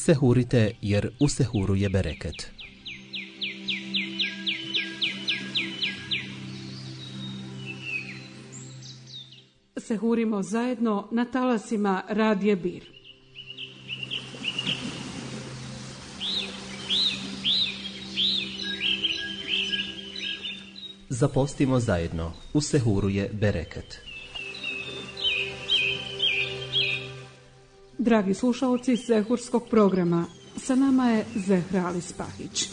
Sehurite jer u sehuru je bereket. Sehurimo zajedno na talasima Radija Bir. Zapostimo zajedno, u sehuru je bereket. Dragi slušalci sehurskog programa, sa nama je Zehra Ali Spahić.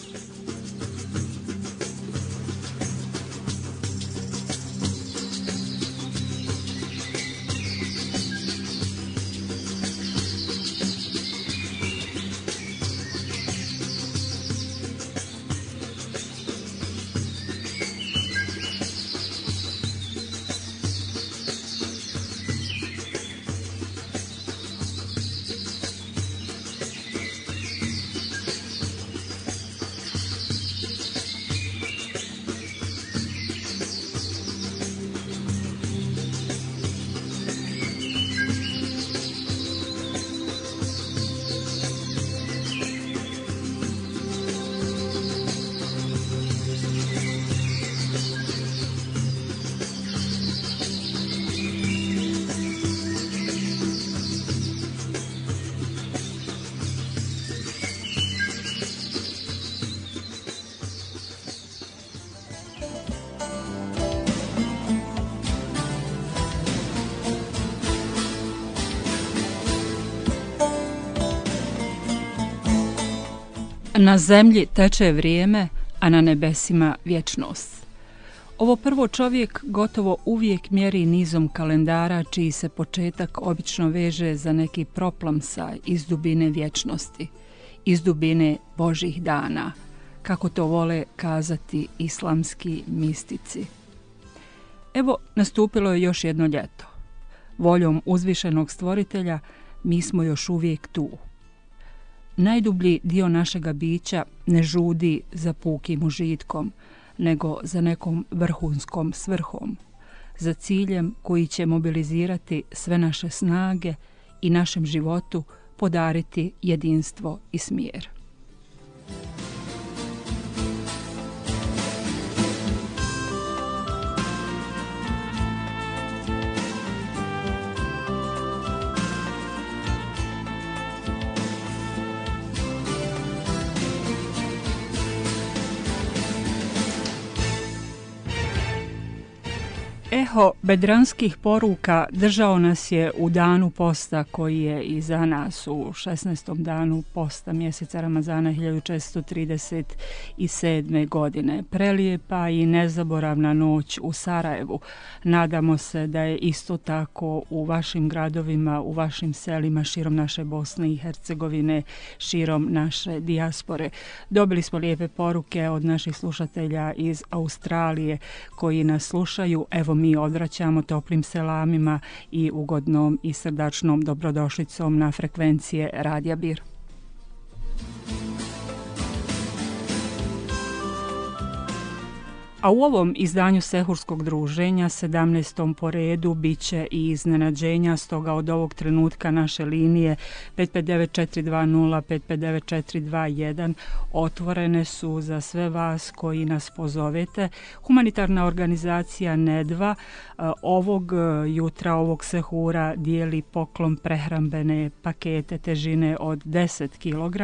Na zemlji teče vrijeme, a na nebesima vječnost. Ovo prvo čovjek gotovo uvijek mjeri nizom kalendara čiji se početak obično veže za neki proplamsaj iz dubine vječnosti, iz dubine Božjih dana, kako to vole kazati islamski mistici. Evo, nastupilo je još jedno ljeto. Voljom uzvišenog stvoritelja mi smo još uvijek tu. Najdublji dio našega bića ne žudi za pukim užitkom, nego za nekom vrhunskom svrhom, za ciljem koji će mobilizirati sve naše snage i našem životu podariti jedinstvo i smjer. Eho bedranskih poruka držao nas je u danu posta koji je iza nas, u 16. danu posta mjeseca Ramazana 1437. godine. Prelijepa i nezaboravna noć u Sarajevu. Nadamo se da je isto tako u vašim gradovima, u vašim selima širom naše Bosne i Hercegovine, širom naše dijaspore. Dobili smo lijepe poruke od naših slušatelja iz Australije koji nas slušaju. Evo mi odvraćamo toplim selamima i ugodnom i srdačnom dobrodošlicom na frekvencije Radija Bir. A u ovom izdanju Sehurskog druženja, 17. po redu, bit će i iznenađenja, stoga od ovog trenutka naše linije 559-420, 559-421 otvorene su za sve vas koji nas pozovete. Humanitarna organizacija Nedva ovog jutra, ovog sehura dijeli poklon prehrambene pakete težine od 10 kg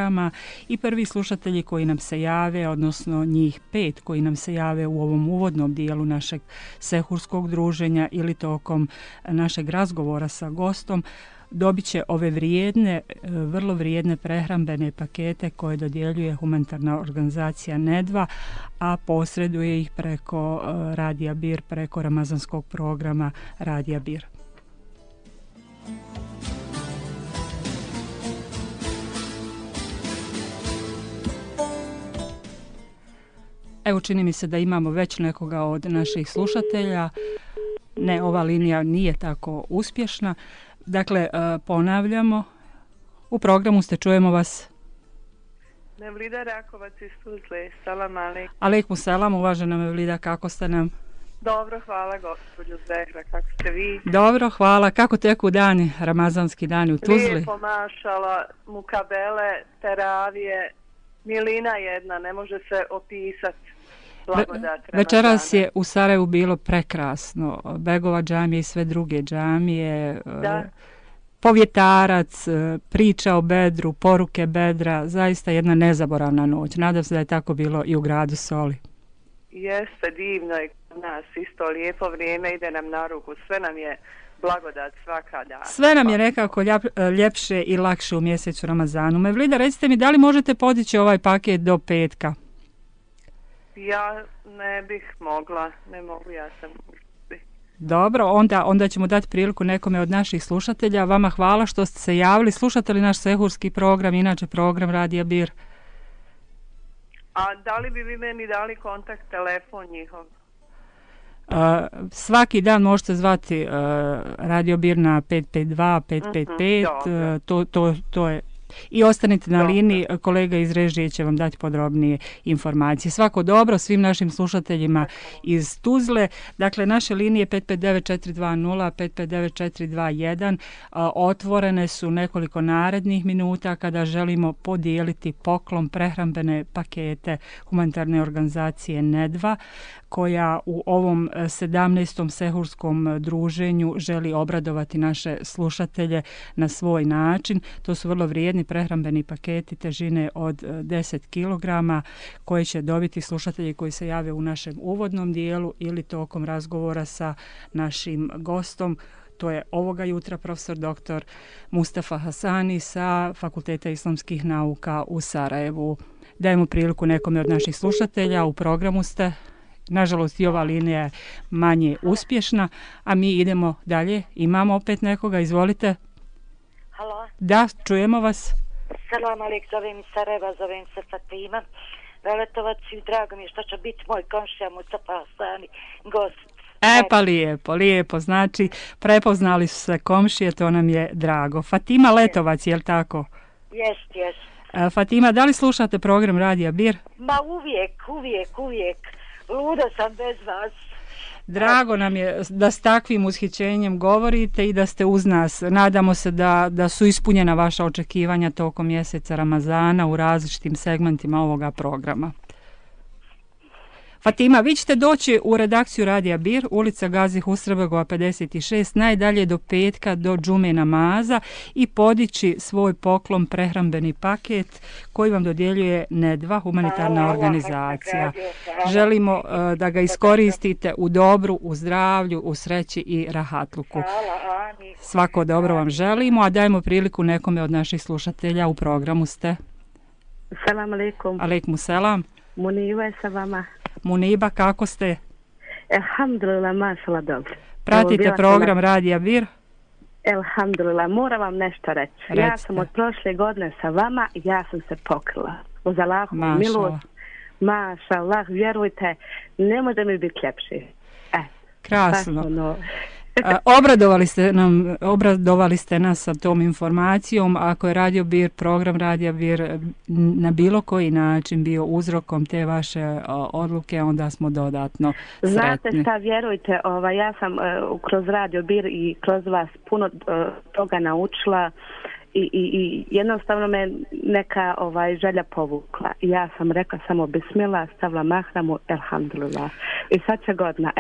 i prvi slušatelji koji nam se jave, odnosno njih 5 koji nam se jave u ovom uvodnom dijelu našeg sehurskog druženja ili tokom našeg razgovora sa gostom, dobit će ove vrijedne, vrlo vrijedne prehrambene pakete koje dodjeljuje humanitarna organizacija Nedva, a posreduje ih preko Radija Bir, preko ramazanskog programa Radija Bir. Evo, čini mi se da imamo već nekoga od naših slušatelja. Ne, ova linija nije tako uspješna. Dakle, ponavljamo, u programu ste, čujemo vas. Mevlida Rakovac iz Tuzle, salam alejkum. Alejkum salam, uvažena Mevlida, kako ste nam? Dobro, hvala gospođo Zehra, kako ste vi? Dobro, hvala. Kako teku dani, ramazanski dani u Tuzli? Lijepo, mašala, mukabele, teravije, milina jedna, ne može se opisati. Blagodat Večeras je u Sarajevu bilo prekrasno. Begova džamija i sve druge džamije. Da. Povjetarac, priča o Bedru, poruke Bedra, zaista jedna nezaboravna noć. Nadam se da je tako bilo i u gradu Soli. Jeste, divno je kod nas, isto lijepo vrijeme ide nam na ruku, sve nam je blagodat svaka dana. Sve nam je nekako ljepše i lakše u mjesecu Ramazanu. Mevlida, recite mi, da li možete podići ovaj paket do petka? Ja ne bih mogla, ne mogu, ja sam... Dobro, onda ćemo dati priliku nekome od naših slušatelja. Vama hvala što ste se javili. Slušate li naš sehurski program, inače program Radija Bir? A da li bi vi meni dali kontakt, telefon njihov? Svaki dan možete zvati Radio Bir na 552 555, to je. I ostanite na liniji, kolega iz režije će vam dati podrobnije informacije. Svako dobro svim našim slušateljima iz Tuzle. Dakle, naše linije 559 420 559 421 otvorene su nekoliko narednih minuta kada želimo podijeliti poklon prehrambene pakete humanitarne organizacije Nedva, koja u ovom 17. sehurskom druženju želi obradovati naše slušatelje na svoj način. To su vrlo vrijedni prehrambeni paketi težine od 10 kg koje će dobiti slušatelji koji se jave u našem uvodnom dijelu ili tokom razgovora sa našim gostom. To je ovoga jutra profesor dr. Mustafa Hasani sa Fakulteta islamskih nauka u Sarajevu. Dajemo priliku nekome od naših slušatelja, u programu ste. Nažalost i ova linija je manje uspješna, a mi idemo dalje. Imamo opet nekoga, izvolite. Halo. Da, čujemo vas. Salam alejk, zovem iz Sarajeva, zovem se Fatima. Veletovac i drago mi je što će biti moj komšija Mustafa Hasani gost. Pa lijepo, znači prepoznali su se komšije, to nam je drago. Fatima Letovac, je li tako? Jest. Fatima, da li slušate program Radija Bir? Ma uvijek. Luda sam bez vas. Drago nam je da s takvim ushićenjem govorite i da ste uz nas. Nadamo se da su ispunjena vaša očekivanja tokom mjeseca Ramazana u različitim segmentima ovoga programa. Fatima, vi ćete doći u redakciju Radija Bir, ulica Gazi Husrebegova 56, najdalje do petka, do džume namaza i podići svoj poklon prehrambeni paket koji vam dodjeljuje Nedva, humanitarna organizacija. Želimo da ga iskoristite u dobru, u zdravlju, u sreći i rahatluku. Svako dobro vam želimo, a dajmo priliku nekome od naših slušatelja. U programu ste. Salam alaikum. Alaikum selam. Muniba je sa vama. Muniba, kako ste? Elhamdulillah, mašala dobro. Pratite program Radija Bir? Elhamdulillah, moram vam nešto reći. Recite. Ja sam od prošle godine sa vama i ja sam se pokrila. Uz Allahovu milost. Mašallah, vjerujte, ne može mi biti ljepši. Krasno. Obradovali ste nas sa tom informacijom. Ako je Radio Bir, program Radija Bir na bilo koji način bio uzrokom te vaše odluke, onda smo dodatno sretni. Znate šta, vjerujte, ja sam kroz Radio Bir i kroz vas puno toga naučila i jednostavno me neka želja povukla. I ja sam rekla samo bismillah, stavila mahramu, elhamdulillah. I sad će godina,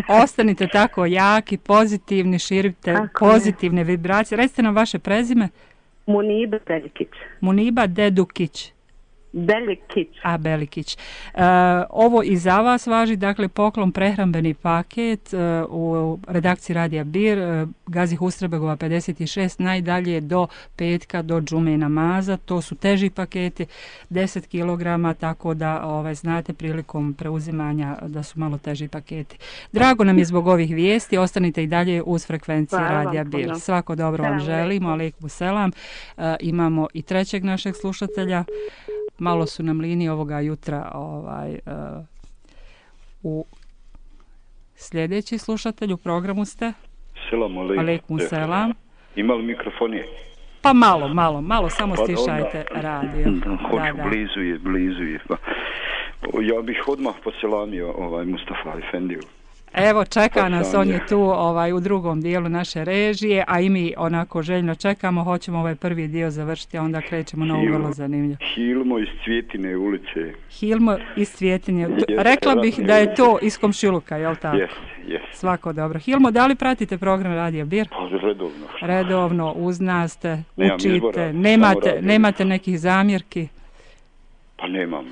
Ostanite tako jaki, pozitivni, širite pozitivne vibracije. Recite nam vaše prezime. Muniba Beljikić. Muniba Dedukić. Belikić. Ovo i za vas važi, dakle poklon prehrambeni paket u redakciji Radija Bir, Gazi Husrebegova 56, najdalje do petka, do džume namaza. To su teži paketi, 10 kg, tako da znate prilikom preuzimanja da su malo teži paketi. Drago nam je zbog ovih vijesti, ostanite i dalje uz frekvencije Radija Bir. Svako dobro vam želimo, alejkum selam. Imamo i trećeg našeg slušatelja. Malo su nam linije ovoga jutra u sljedeći slušatelj u programu ste. Selam alejkum selam. Ima li mikrofonije? Pa malo, samo stišajte radio. Blizu je. Ja bih odmah poselamio Mustafa Efendiju. Evo, čeka nas, on je tu u drugom dijelu naše režije, a i mi onako željno čekamo, hoćemo ovaj prvi dio završiti, a onda krećemo na ovo vrlo zanimljivo. Hilmo iz Cvjetine ulice. Hilmo iz Cvjetine. Rekla bih da je to iz komšiluka, jel tako? Jes. Svako dobro. Hilmo, da li pratite program Radija Bir? Pa redovno. Redovno, uz nas ste, Nemam učite, izbora, nemate nekih zamjerki? Pa nemam.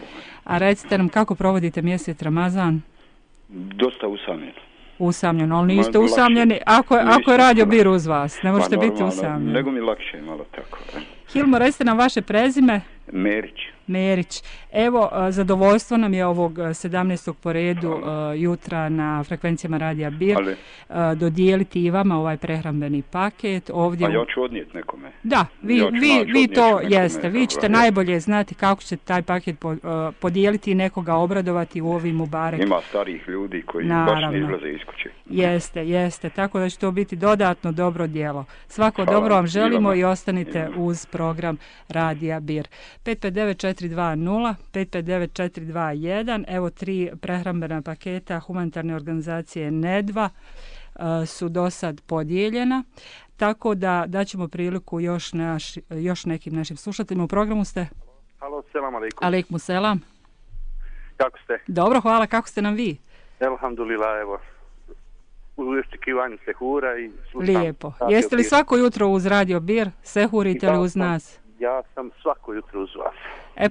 A recite nam kako provodite mjesec Ramazan? Dosta usamljen. Usamljeno, ali niste usamljeni ako je Radio Bir uz vas, ne možete biti usamljeni. Nego mi lakše malo tako. Hilmo, recite nam vaše prezime? Merić. Evo, zadovoljstvo nam je ovog 17. po redu jutra na frekvencijama Radija Bir dodijeliti i vama ovaj prehrambeni paket. Ovdje ja ću odnijeti nekome. Da, vi to jeste. Vi ćete najbolje znati kako ćete taj paket podijeliti i nekoga obradovati u ovim Mubarek. Ima starih ljudi koji baš ne izlaze iz kuće. Jeste. Tako da će to biti dodatno dobro djelo. Svako dobro vam želimo i ostanite uz program Radija Bir. 559420 559421. Evo 3 prehrambena paketa humanitarne organizacije Nedva su do sad podijeljena, tako da daćemo priliku još nekim našim slušateljima. U programu ste? Halo, selam alaikum. Alaikum selam. Kako ste? Dobro, hvala. Kako ste nam vi? Elhamdulillah, evo. U očekivanju sehura i slušam. Lijepo. Jeste li svako jutro uz Radio Bir? Sehurite li uz nas? Ja sam svako jutro uz vas.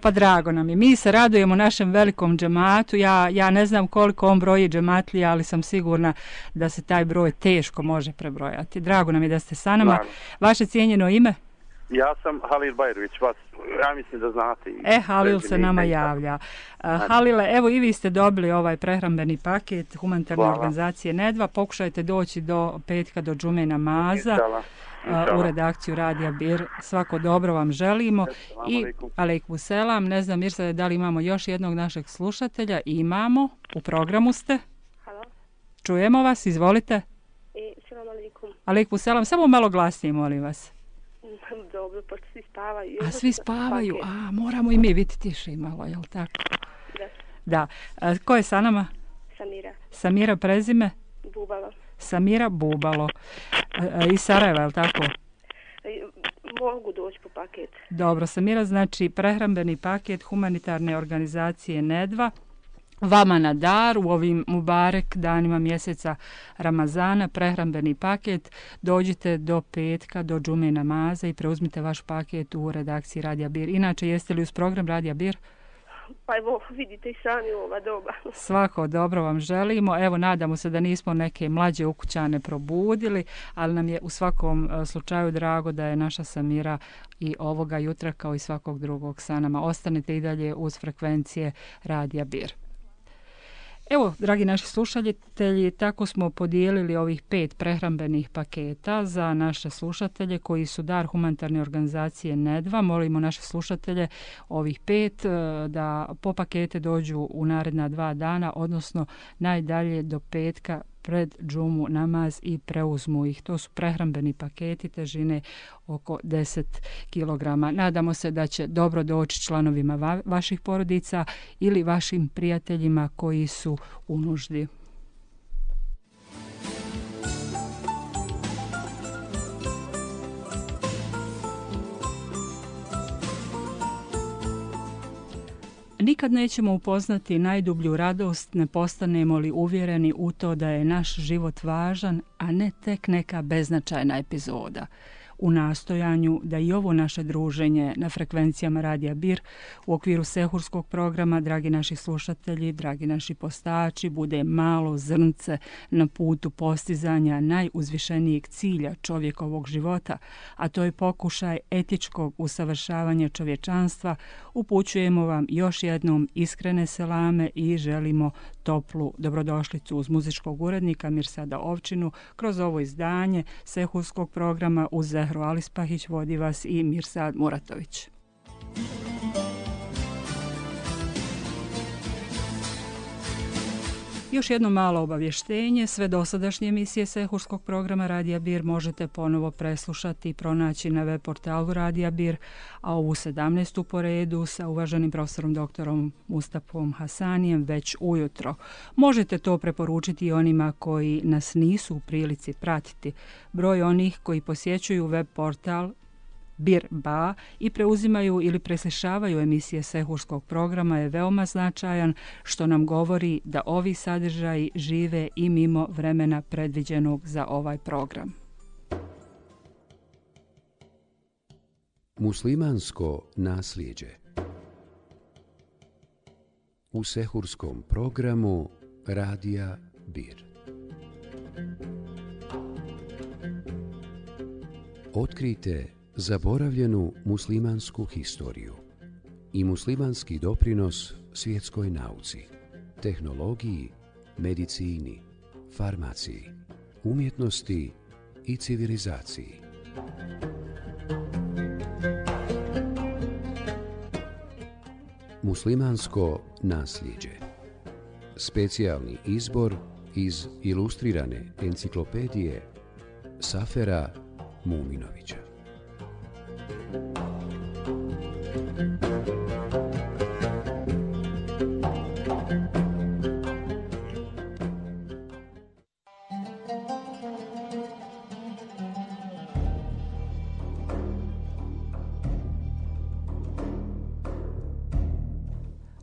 Pa drago nam je. Mi se radujemo našem velikom džematu. Ja ne znam koliko on broji džematlija, ali sam sigurna da se taj broj teško može prebrojati. Drago nam je da ste sa nama. Naravno. Vaše cijenjeno ime? Ja sam Halil Bajrović, vas ja mislim da znate. Halil se nama javlja. Halile, evo i vi ste dobili ovaj prehrambeni paket humanitarne organizacije Nedva. Pokušajte doći do petka, do džume namaza. U redakciju Radija Bir. Svako dobro vam želimo. I alejkum selam. Ne znam, Mirsa, da li imamo još jednog našeg slušatelja? Imamo. U programu ste. Halo. Čujemo vas, izvolite. Selam alejkum. Alejkum selam. Samo malo glasnije, molim vas. Dobro, pa svi spavaju. A svi spavaju? Moramo i mi biti tiši malo, jel tako? Da. Ko je sa nama? Samira, prezime? Bubalo. Samira Bubalo. Iz Sarajeva, je li tako? Mogu doći po paket. Dobro, Samira, znači prehrambeni paket humanitarne organizacije Nedva. Vama na dar u ovim Mubarek danima mjeseca Ramazana, prehrambeni paket. Dođite do petka, do džume namaza i preuzmite vaš paket u redakciji Radija Bir. Inače, jeste li uz program Radija Bir? Pa evo, vidite i sami ova doba. Svako dobro vam želimo. Evo, nadamo se da nismo neke mlađe ukućane probudili, ali nam je u svakom slučaju drago da je naša Samira i ovoga jutra kao i svakog drugog sa nama. Ostanite i dalje uz frekvencije Radija Bir. Evo, dragi naši slušatelji, tako smo podijelili ovih 5 prehrambenih paketa za naše slušatelje koji su dar humanitarne organizacije Nedva. Molimo naše slušatelje ovih 5 da po pakete dođu u naredna 2 dana, odnosno najdalje do petka pred džumu namaz i preuzmu ih. To su prehrambeni paketi težine oko 10 kg. Nadamo se da će dobro doći članovima vaših porodica ili vašim prijateljima koji su u nuždi. Nikad nećemo upoznati najdublju radost, ne postanemo li uvjereni u to da je naš život važan, a ne tek neka beznačajna epizoda. U nastojanju da i ovo naše druženje na frekvencijama Radija Bir u okviru sehurskog programa, dragi naši slušatelji, dragi naši postači, bude malo zrnce na putu postizanja najuzvišenijeg cilja čovjekovog života, a to je pokušaj etičkog usavršavanja čovječanstva, upućujemo vam još jednom iskrene selame i želimo toplu dobrodošlicu uz muzičkog urednika Mirsada Ovčinu kroz ovo izdanje sehurskog programa uz Zehru Alispahić, vodi vas i Mirsad Muratović. Još jedno malo obavještenje, sve dosadašnje emisije Sehurskog programa Radija Bir možete ponovo preslušati i pronaći na web portalu Radija Bir, a ovu 17. po redu sa uvaženim profesorom doktorom Mustafom Hasanijem već ujutro. Možete to preporučiti i onima koji nas nisu u prilici pratiti. Broj onih koji posjećuju web portal Bir.ba i preuzimaju ili preslišavaju emisije Sehurskog programa je veoma značajan, što nam govori da ovi sadržaji žive i mimo vremena predviđenog za ovaj program. Muslimansko nasljeđe u Sehurskom programu Radija Bir. Otkrijte zaboravljenu muslimansku historiju i muslimanski doprinos svjetskoj nauci, tehnologiji, medicini, farmaciji, umjetnosti i civilizaciji. Muslimansko nasljeđe. Specijalni izbor iz ilustrirane enciklopedije Safera Muminovića.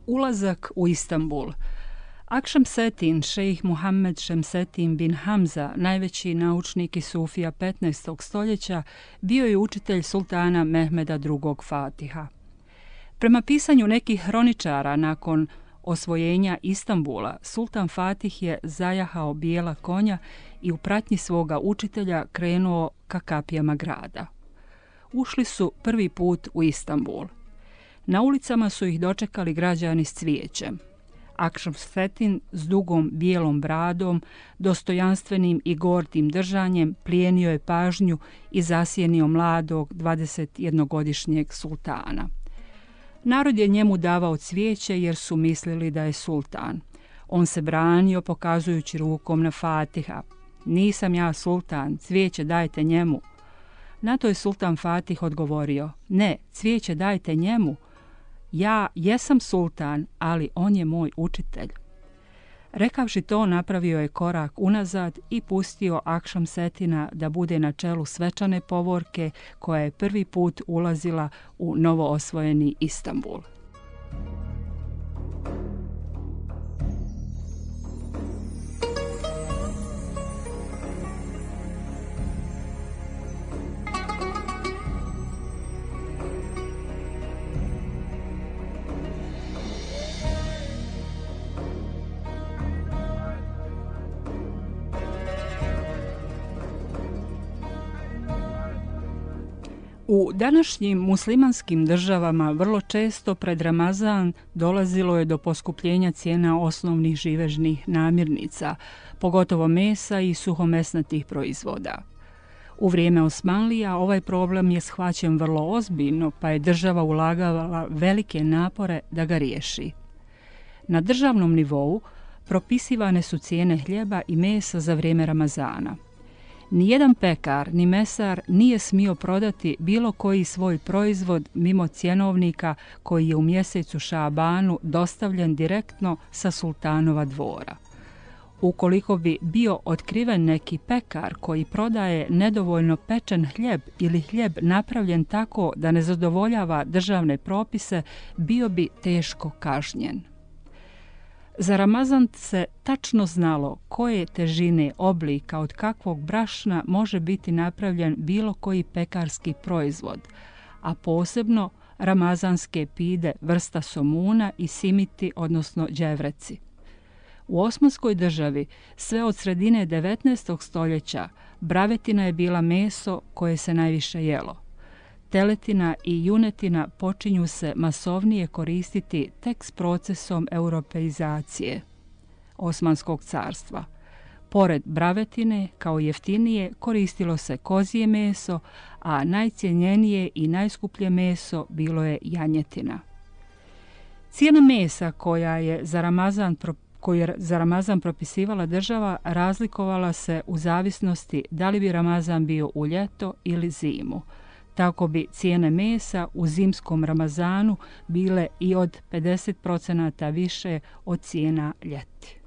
Ulazak u Istanbul. Akšemsetin, šejih Muhammed Šemsetin bin Hamza, najveći naučnik i sufija 15. stoljeća, bio je učitelj sultana Mehmeda II. Fatiha. Prema pisanju nekih hroničara, nakon osvojenja Istanbula, sultan Fatih je zajahao bijela konja i u pratnji svoga učitelja krenuo ka kapijama grada. Ušli su prvi put u Istanbul. Na ulicama su ih dočekali građani s cvijećem. Akšemsetin s dugom bijelom bradom, dostojanstvenim i gordim držanjem plijenio je pažnju i zasjenio mladog 21-godišnjeg sultana. Narod je njemu davao cvijeće jer su mislili da je sultan. On se branio pokazujući rukom na Fatiha. Nisam ja sultan, cvijeće dajte njemu. Na to je sultan Fatih odgovorio, ne, cvijeće dajte njemu. Ja jesam sultan, ali on je moj učitelj. Rekavši to, napravio je korak unazad i pustio Akšemsetina da bude na čelu svečane povorke koja je prvi put ulazila u novoosvojeni Istanbul. U današnjim muslimanskim državama vrlo često pred Ramazan dolazilo je do poskupljenja cijena osnovnih živežnih namirnica, pogotovo mesa i suhomesnatih proizvoda. U vrijeme Osmanlija ovaj problem je shvaćen vrlo ozbiljno, pa je država ulagala velike napore da ga riješi. Na državnom nivou propisivane su cijene hljeba i mesa za vrijeme Ramazana. Nijedan pekar ni mesar nije smio prodati bilo koji svoj proizvod mimo cjenovnika koji je u mjesecu Šabanu dostavljen direktno sa sultanova dvora. Ukoliko bi bio otkriven neki pekar koji prodaje nedovoljno pečen hljeb ili hljeb napravljen tako da ne zadovoljava državne propise, bio bi teško kažnjen. Za Ramazan se tačno znalo koje težine, oblika, od kakvog brašna može biti napravljen bilo koji pekarski proizvod, a posebno ramazanske pide vrsta somuna i simiti, odnosno đevreci. U Osmanskoj državi sve od sredine 19. stoljeća bravetina je bila meso koje se najviše jelo. Teletina i junetina počinju se masovnije koristiti tek s procesom europeizacije Osmanskog carstva. Pored bravetine, kao jeftinije, koristilo se kozje meso, a najcjenjenije i najskuplje meso bilo je janjetina. Cijena mesa koja je za Ramazan koju je za Ramazan propisivala država razlikovala se u zavisnosti da li bi Ramazan bio u ljeto ili zimu. Tako bi cijene mesa u zimskom Ramazanu bile i od 50% više od cijena ljeti.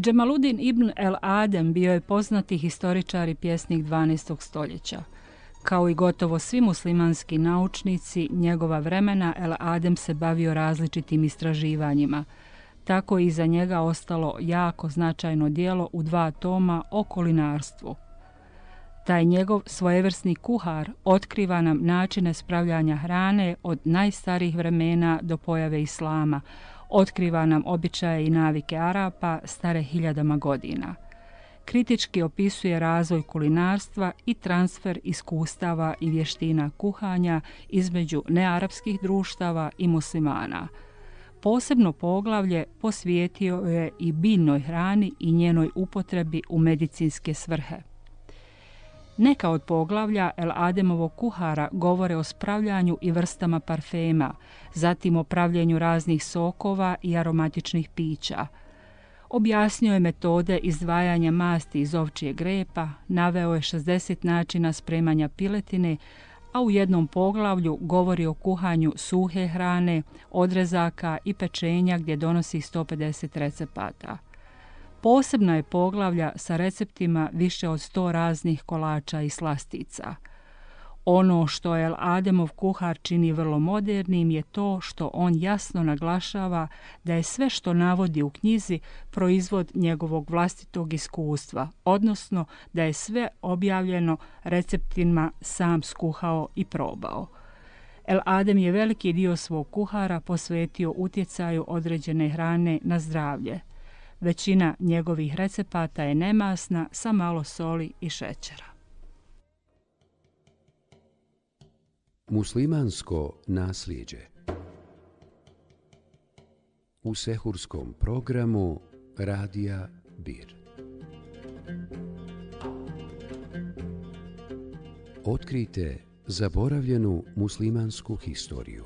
Džemaludin ibn el-Adem bio je poznati historičar i pjesnik 12. stoljeća. Kao i gotovo svi muslimanski naučnici njegova vremena, el-Adem se bavio različitim istraživanjima. Tako je iza njega ostalo jako značajno djelo u 2 toma o kulinarstvu. Taj njegov svojevrsni kuhar otkriva nam načine spravljanja hrane od najstarijih vremena do pojave islama, otkriva nam običaje i navike Arapa stare hiljadama godina. Kritički opisuje razvoj kulinarstva i transfer iskustava i vještina kuhanja između nearapskih društava i muslimana. Posebno poglavlje posvijetio je i biljnoj hrani i njenoj upotrebi u medicinske svrhe. Neka od poglavlja el-Ademovog kuhara govore o spravljanju i vrstama parfema, zatim o pravljenju raznih sokova i aromatičnih pića. Objasnio je metode izdvajanja masti iz ovčjeg repa, naveo je 60 načina spremanja piletine, a u jednom poglavlju govori o kuhanju suhe hrane, odrezaka i pečenja gdje donosi 150 recepata. Posebna je poglavlja sa receptima više od 100 raznih kolača i slastica. Ono što el-Ademov kuhar čini vrlo modernim je to što on jasno naglašava da je sve što navodi u knjizi proizvod njegovog vlastitog iskustva, odnosno da je sve objavljeno receptima sam skuhao i probao. El-Adem je veliki dio svog kuhara posvetio utjecaju određene hrane na zdravlje. Većina njegovih recepata je nemasna sa malo soli i šećera. Muslimansko nasljeđe. U sehurskom programu Radija Bir. Otkrijte zaboravljenu muslimansku historiju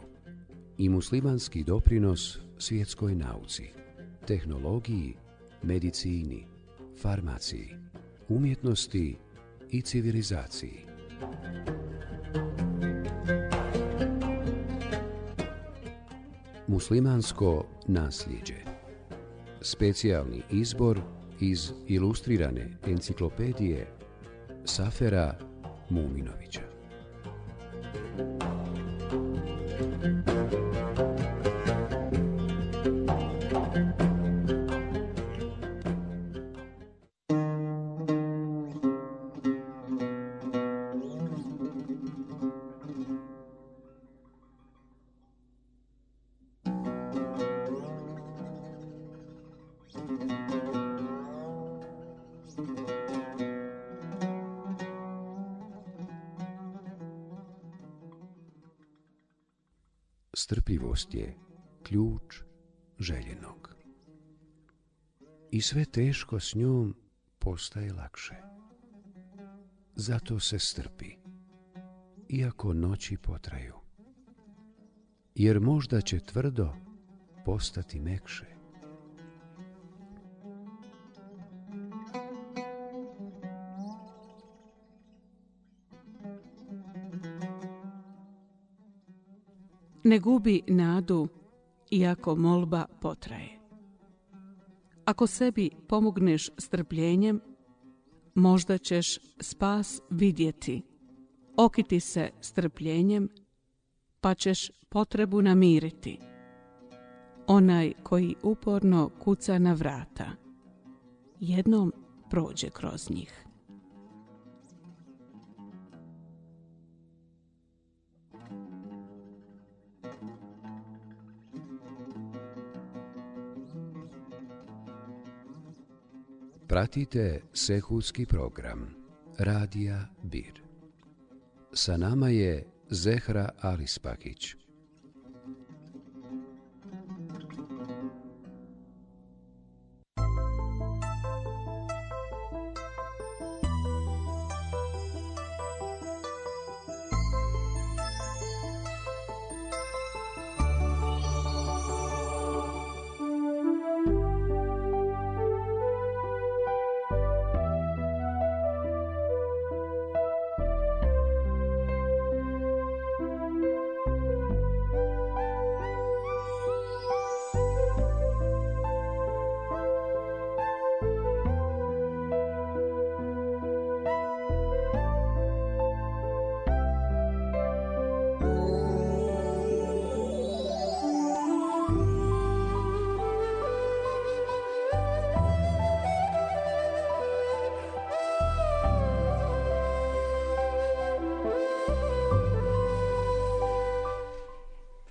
i muslimanski doprinos svjetskoj nauci, tehnologiji, medicini, farmaciji, umjetnosti i civilizaciji. Muslimansko nasljeđe. Specijalni izbor iz ilustrirane enciklopedije Safera Muminovića. Strpljivost je ključ željenog. I sve teško s njom postaje lakše. Zato se strpi, iako noći potraju. Jer možda će tvrdo postati mekše. Ne gubi nadu, iako molba potraje. Ako sebi pomogneš strpljenjem, možda ćeš spas vidjeti. Okiti se strpljenjem, pa ćeš potrebu namiriti. Onaj koji uporno kuca na vrata, jednom prođe kroz njih. Pratite sehurski program Radija Bir. Sa nama je Zehra Alispakić.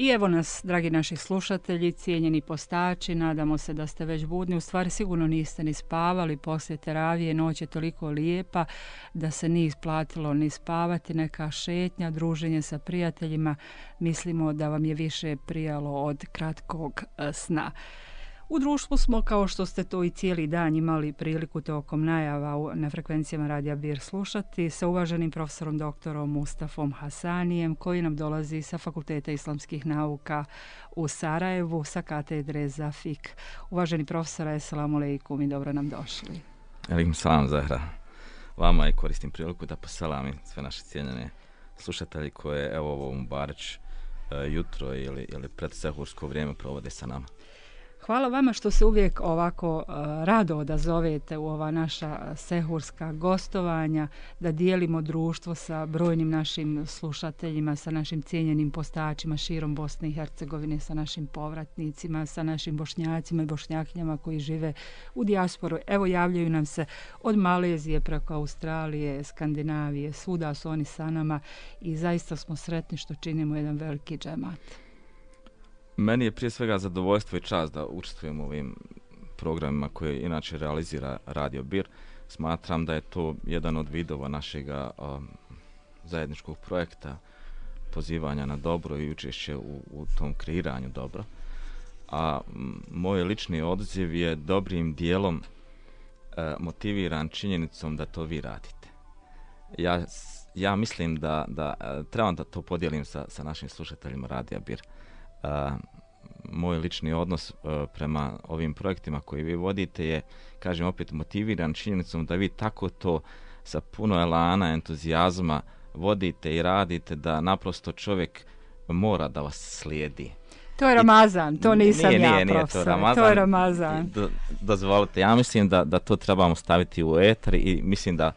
I evo nas, dragi naši slušatelji, cijenjeni postači, nadamo se da ste već budni. U stvari sigurno niste ni spavali poslije teravije, noć je toliko lijepa da se nije isplatilo ni spavati, neka šetnja, druženje sa prijateljima. Mislimo da vam je više prijalo od kratkog sna. U društvu smo, kao što ste to i cijeli dan imali priliku tokom najava na frekvencijama Radija Bir slušati, sa uvaženim profesorom doktorom Mustafom Hasanijem, koji nam dolazi sa Fakulteta islamskih nauka u Sarajevu, sa katedre za fik. Uvaženi profesore, assalamu alaikum i dobro nam došli. Alaikum salam, Zahra. Vama i koristim priliku da poselamim sve naše cijenjene slušatelji koje evo ovo Mubareć jutro ili predsehursko vrijeme provode sa nama. Hvala vama što se uvijek ovako rado odazovete u ova naša sehurska gostovanja, da dijelimo društvo sa brojnim našim slušateljima, sa našim cijenjenim postačima širom Bosne i Hercegovine, sa našim povratnicima, sa našim Bošnjacima i Bošnjakinjama koji žive u dijasporu. Evo, javljaju nam se od Malezije preko Australije, Skandinavije, svuda su oni sa nama i zaista smo sretni što činimo jedan veliki džemat. Meni je prije svega zadovoljstvo i čast da učestvujem u ovim programima koje inače realizira Radio Bir. Smatram da je to jedan od vidova našega zajedničkog projekta pozivanja na dobro i učešće u tom kreiranju dobra. A moj lični odziv je dobrim dijelom motiviran činjenicom da to vi radite. Ja mislim da trebam da to podijelim sa našim slušateljima Radija Bir. Moj lični odnos prema ovim projektima koji vi vodite je, kažem opet, motiviran činjenicom da vi tako to sa puno elana, entuzijazma vodite i radite da naprosto čovjek mora da vas slijedi. To je Ramazan, to nisam ja, profesor. To je Ramazan. Dozvolite, ja mislim da to trebamo staviti u etar i mislim da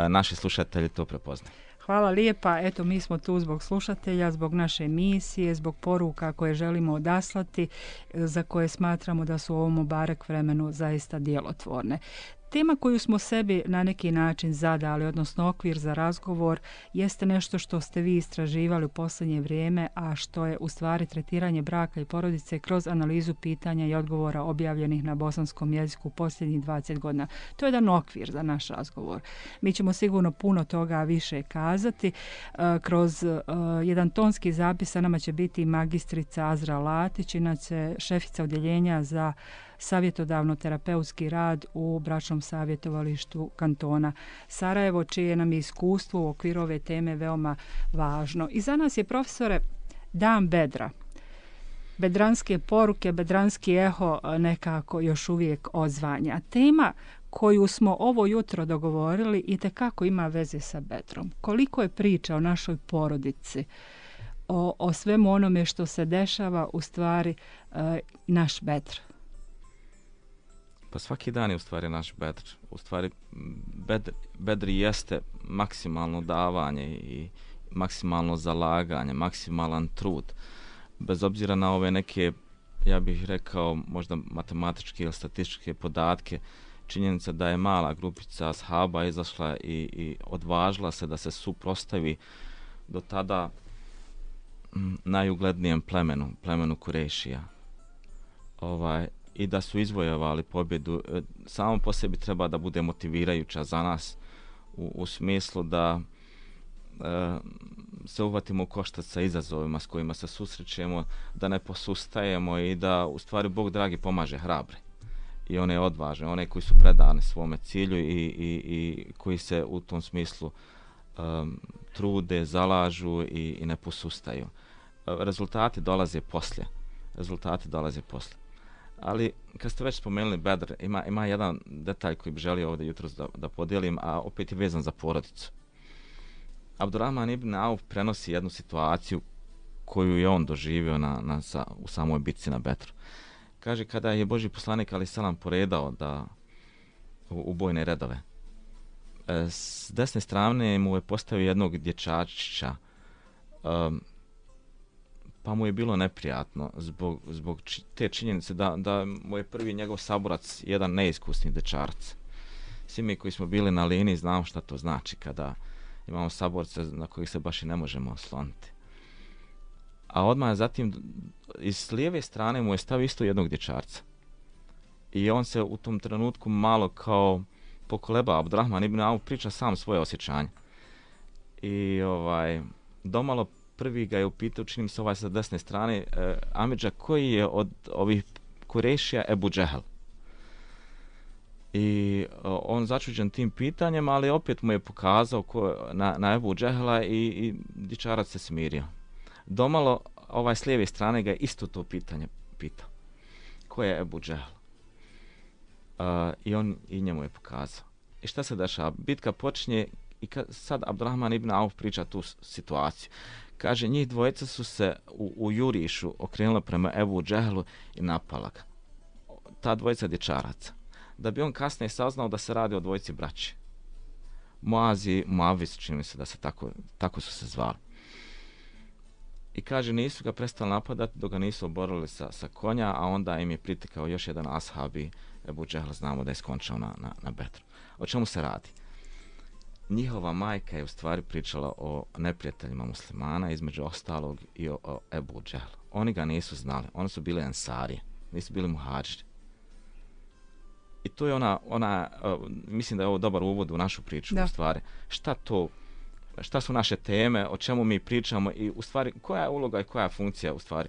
naši slušatelji to prepoznaju. Hvala lijepa. Eto, mi smo tu zbog slušatelja, zbog naše emisije, zbog poruka koje želimo odaslati, za koje smatramo da su u ovom Mubarek vremenu zaista djelotvorne. Tema koju smo sebi na neki način zadali, odnosno okvir za razgovor, jeste nešto što ste vi istraživali u posljednje vrijeme, a što je u stvari tretiranje braka i porodice kroz analizu pitanja i odgovora objavljenih na bosanskom jeziku posljednjih 20 godina. To je jedan okvir za naš razgovor. Mi ćemo sigurno puno toga više kazati. Kroz jedan tonski zapis sa nama će biti magistrica Azra Latić, inače šefica odjeljenja za savjetodavno-terapeutski rad u bračnom savjetovalištu kantona Sarajevo, čije nam je iskustvo u okviru ove teme veoma važno. I za nas je, profesore, Dan Bedra. Bedranske poruke, bedranski eho nekako još uvijek odzvanja. Tema koju smo ovo jutro dogovorili itekako ima veze sa Bedrom. Koliko je priča o našoj porodici, o svemu onome što se dešava, u stvari naš Bedr. Pa svaki dan je u stvari naš Bedr. U stvari Bedr jeste maksimalno davanje i maksimalno zalaganje, maksimalan trud. Bez obzira na ove neke, ja bih rekao, možda matematičke ili statističke podatke, činjenica da je mala grupica ashaba izašla i odvažila se da se suprotstavi do tada najuglednijem plemenu Kurešija. I da su izvojevali pobjedu, samo po sebi treba da bude motivirajuća za nas u smislu da se uhvatimo u koštac sa izazovima s kojima se susrećemo, da ne posustajemo i da u stvari Bog dragi pomaže hrabre i one odvažne, one koji su predani svome cilju i koji se u tom smislu trude, zalažu i ne posustaju. Rezultati dolaze poslije. Ali kad ste već spomenuli Bedr, ima jedan detalj koji bi želio ovdje jutros da podijelim, a opet je vezan za porodicu. Abdurrahman ibn Auf prenosi jednu situaciju koju je on doživio u samoj bitci na Bedru. Kaže, kada je Božji poslanik alejhi selam poredao u bojne redove, s desne strane mu je postavio jednog dječačića, pa mu je bilo neprijatno zbog te činjenice da mu je prvi njegov saborac jedan neiskusni dečarac. Svi mi koji smo bili na liniji znamo šta to znači kada imamo saborce na kojih se baš i ne možemo osloniti. a odmah zatim iz lijeve strane mu je stavio isto jednog dječarca. I on se u tom trenutku malo kao pokoleba. Abdurrahman ibn Auf priča sam svoje osjećanje. I domalo prvi ga je upitao, čini mi se sa desne strane, Amidža, koji je od ovih Kurešija Ebu Džehel? I on začuđen tim pitanjem, ali opet mu je pokazao na Ebu Džehela i dječarac se smirio. Domalo s lijeve strane ga je isto to pitanje pitao. Ko je Ebu Džehel? I on i njemu je pokazao. I šta se dešava? Bitka počinje i sad Abdurrahman ibn Auf priča tu situaciju. Kaže, njih dvojica su se u jurišu okrenula prema Ebu Džehelu i napala ga. Ta dvojica dječaraca. Da bi on kasnije saznao da se radi o dvojici braći. Muaz i Muavis, čini mi se da se tako su se zvali. I kaže, nisu ga prestali napadati dok ga nisu oborili sa konja, a onda im je pritekao još jedan ashabi, Ebu Džehel, znamo da je skončao na Bedru. O čemu se radi? Njihova majka je u stvari pričala o neprijateljima muslimana, između ostalog i o Ebu Džehelu. Oni ga nisu znali, oni su bili ensarije, nisu bili muhadžiri. I to je mislim da je ovo dobar uvod u našu priču, u stvari. Šta su naše teme, o čemu mi pričamo i u stvari koja je uloga i koja je funkcija u stvari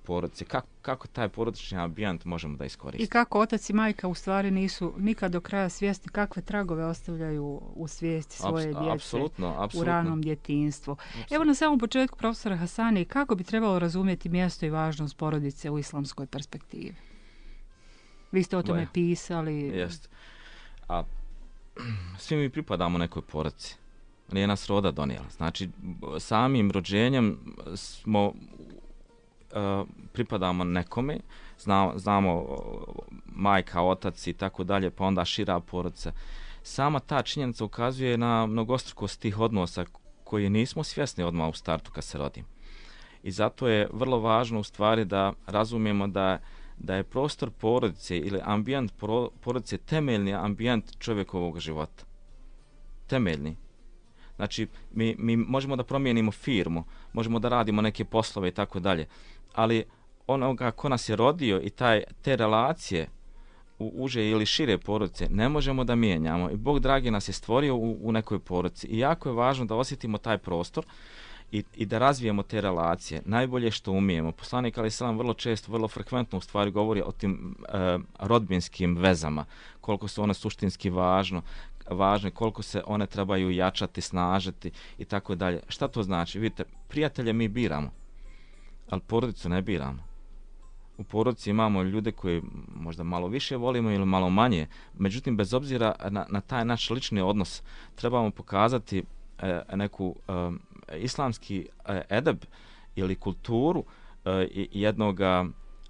porodice, kako taj porodični ambijent možemo da iskoristimo. I kako otac i majka u stvari nisu nikad do kraja svjesni kakve tragove ostavljaju u svijesti svoje djece apsolutno. U ranom djetinjstvu. Apsolutno. Evo na samom početku, profesore Hasani, kako bi trebalo razumjeti mjesto i važnost porodice u islamskoj perspektivi? Vi ste o tome pisali. Jest. A svi mi pripadamo nekoj porodici. Nije nas roda donijela. Znači, samim rođenjem pripadamo nekome, znamo majka, otac i tako dalje, pa onda šira porodica. Sama ta činjenica ukazuje na mnogostrukost tih odnosa koji nismo svjesni odmah u startu kad se rodimo. I zato je vrlo važno u stvari da razumijemo da je prostor porodice ili ambijent porodice temeljni ambijent čovjekovog života. Temeljni. Znači, mi možemo da promijenimo firmu, možemo da radimo neke poslove i tako dalje, ali onoga ko nas je rodio i te relacije u uže ili šire porodice ne možemo da mijenjamo. I Bog dragi nas je stvorio u nekoj porodici. I jako je važno da osjetimo taj prostor i da razvijemo te relacije. Najbolje što umijemo. Poslanik alejhi selam vrlo često, vrlo frekventno u stvari govori o tim rodbinskim vezama, koliko su one suštinski važne, koliko se one trebaju jačati, snažiti i tako dalje. Šta to znači? Vidite, prijatelje mi biramo, ali porodicu ne biramo. U porodici imamo ljude koji možda malo više volimo ili malo manje, međutim, bez obzira na taj naš lični odnos, trebamo pokazati neku islamski edeb ili kulturu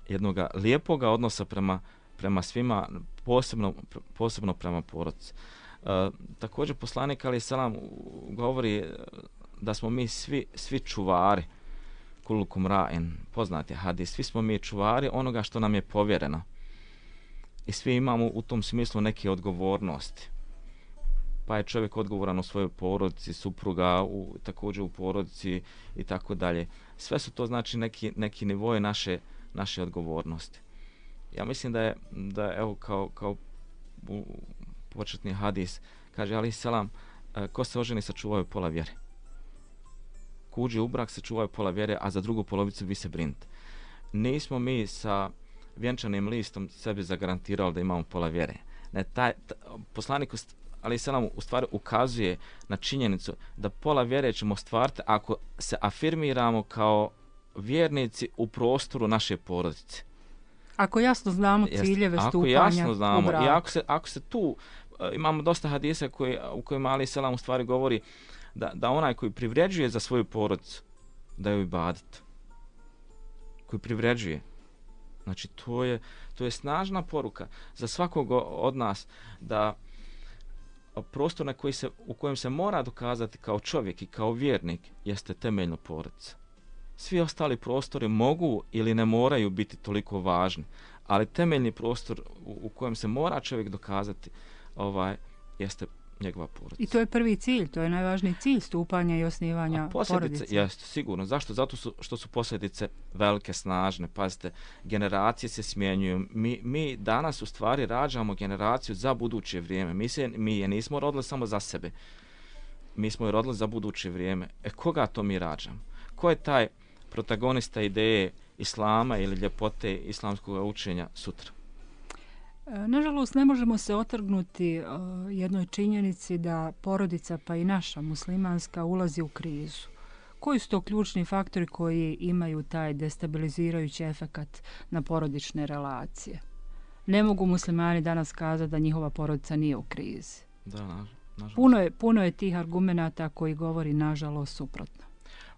jednoga lijepoga odnosa prema svima, posebno prema porodici. Također poslanik alejhi selam govori da smo mi svi čuvari, kullukum ra'in, poznati hadis, svi smo mi čuvari onoga što nam je povjereno. I svi imamo u tom smislu neke odgovornosti. Pa je čovjek odgovoran u svojoj porodici, supruga također u porodici i tako dalje. Sve su to znači neki nivoje naše odgovornosti. Ja mislim da evo kao početni hadis kaže alejhi selam, ko se oženi sačuvaju pola vjere. Ko uđe u brak sačuvaju pola vjere, a za drugu polovicu vi se brinite. Nismo mi sa vjenčanim listom sebi zagarantirali da imamo pola vjere. Ne, poslanik alejhi selam u stvari ukazuje na činjenicu da pola vjere ćemo ostvariti ako se afirmiramo kao vjernici u prostoru naše porodice. Ako jasno znamo ciljeve stupanja u brak. I ako se tu, imamo dosta hadisa u kojima alejhi selam u stvari govori da onaj koji privređuje za svoju porodicu, da je ibadet. Koji privređuje. Znači, to je snažna poruka za svakog od nas da prostor u kojem se mora dokazati kao čovjek i kao vjernik jeste temeljno porodica. Svi ostali prostori mogu ili ne moraju biti toliko važni, ali temeljni prostor u kojem se mora čovjek dokazati jeste njegova porodica. I to je prvi cilj, to je najvažniji cilj stupanja i osnivanja porodice. Jeste, sigurno. Zašto? Zato što su posljedice velike, snažne. Pazite, generacije se smjenjuju. Mi danas u stvari rađamo generaciju za buduće vrijeme. Mi je nismo rodili samo za sebe. Mi smo je rodili za buduće vrijeme. Koga to mi rađamo? Ko je taj protagonista ideje islama ili ljepote islamskog učenja sutra? Nažalost, ne možemo se otrgnuti jednoj činjenici da porodica, pa i naša muslimanska, ulazi u krizu. Koji su to ključni faktori koji imaju taj destabilizirajući efekat na porodične relacije? Ne mogu muslimani danas kazati da njihova porodica nije u krizi. Da, nažalost. Puno je tih argumenata koji govori nažalost suprotno.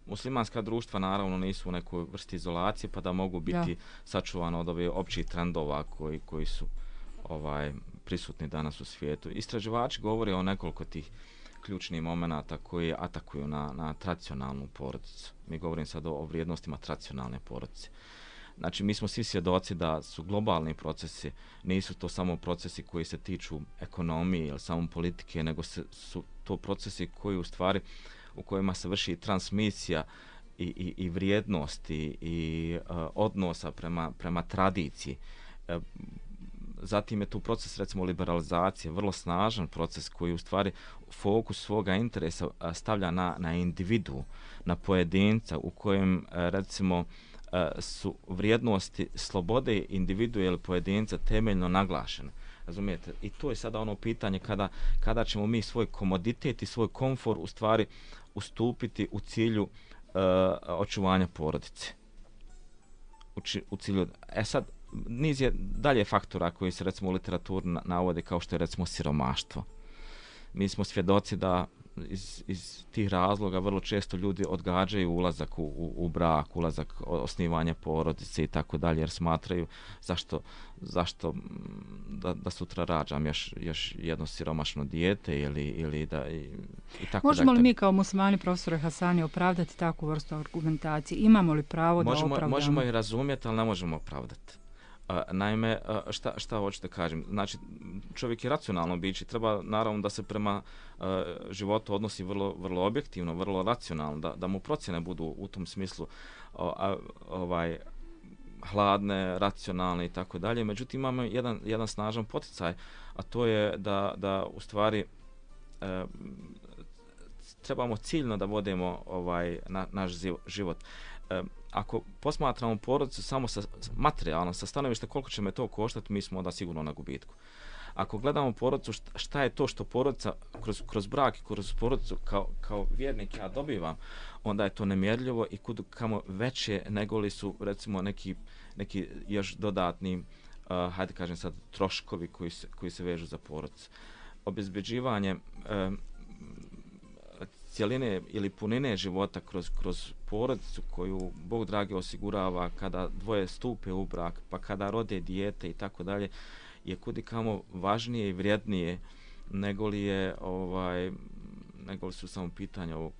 Muslimanska društva naravno nisu u nekoj vrsti izolacije pa da mogu biti sačuvano od ovih općih trendova koji su prisutni danas u svijetu. Istraživači govore o nekoliko tih ključnih momenata koji atakuju na tradicionalnu porodicu. Mi govorim sad o vrijednostima tradicionalne porodice. Znači, mi smo svi svjedoci da su globalni procesi, nisu to samo procesi koji se tiču ekonomije ili samo politike, nego su to procesi koji u stvari u kojima se vrši transmisija i vrijednosti i odnosa prema tradiciji. Zatim je tu proces, recimo, liberalizacije, vrlo snažan proces koji u stvari fokus svoga interesa stavlja na individu, na pojedinca, u kojem, recimo, su vrijednosti slobode individua ili pojedinca temeljno naglašene. Razumijete? I to je sada ono pitanje kada ćemo mi svoj komoditet i svoj komfor u stvari ustupiti u cilju očuvanja porodice. U cilju... sad, niz je dalje faktora koji se recimo u literaturi navode kao što je recimo siromaštvo. Mi smo svjedoci da iz tih razloga vrlo često ljudi odgađaju ulazak u brak, ulazak, osnivanje porodice i tako dalje, jer smatraju zašto da sutra rađam još jedno siromašno dijete ili da i tako dalje. Možemo li mi kao muslimani, profesore Hasani, opravdati takvu vrstu argumentacije? Imamo li pravo da opravdamo? Možemo i razumjeti, ali ne možemo opravdati. Naime, šta hoću da kažem? Znači, čovjek je racionalno biće, treba naravno da se prema životu odnosi vrlo, vrlo objektivno, vrlo racionalno, da mu procjene budu u tom smislu hladne, racionalne i tako dalje. Međutim, imamo jedan snažan poticaj, a to je da u stvari trebamo ciljno da vodimo naš život. Ako posmatramo porodicu samo materijalno, sa stanovišta koliko će me to koštati, mi smo onda sigurno na gubitku. Ako gledamo porodicu, šta je to što porodica kroz brak i kroz porodicu kao vjernik ja dobivam, onda je to nemjerljivo i kamo veće nego li su recimo neki još dodatni, hajde kažem sad, troškovi koji se vežu za porodicu. Obezbeđivanje cijeline ili punine života kroz porodicu koju Bog dragi osigurava kada dvoje stupe u brak, pa kada rode dijete i tako dalje, je kudikamo važnije i vrijednije nego li su samo pitanja o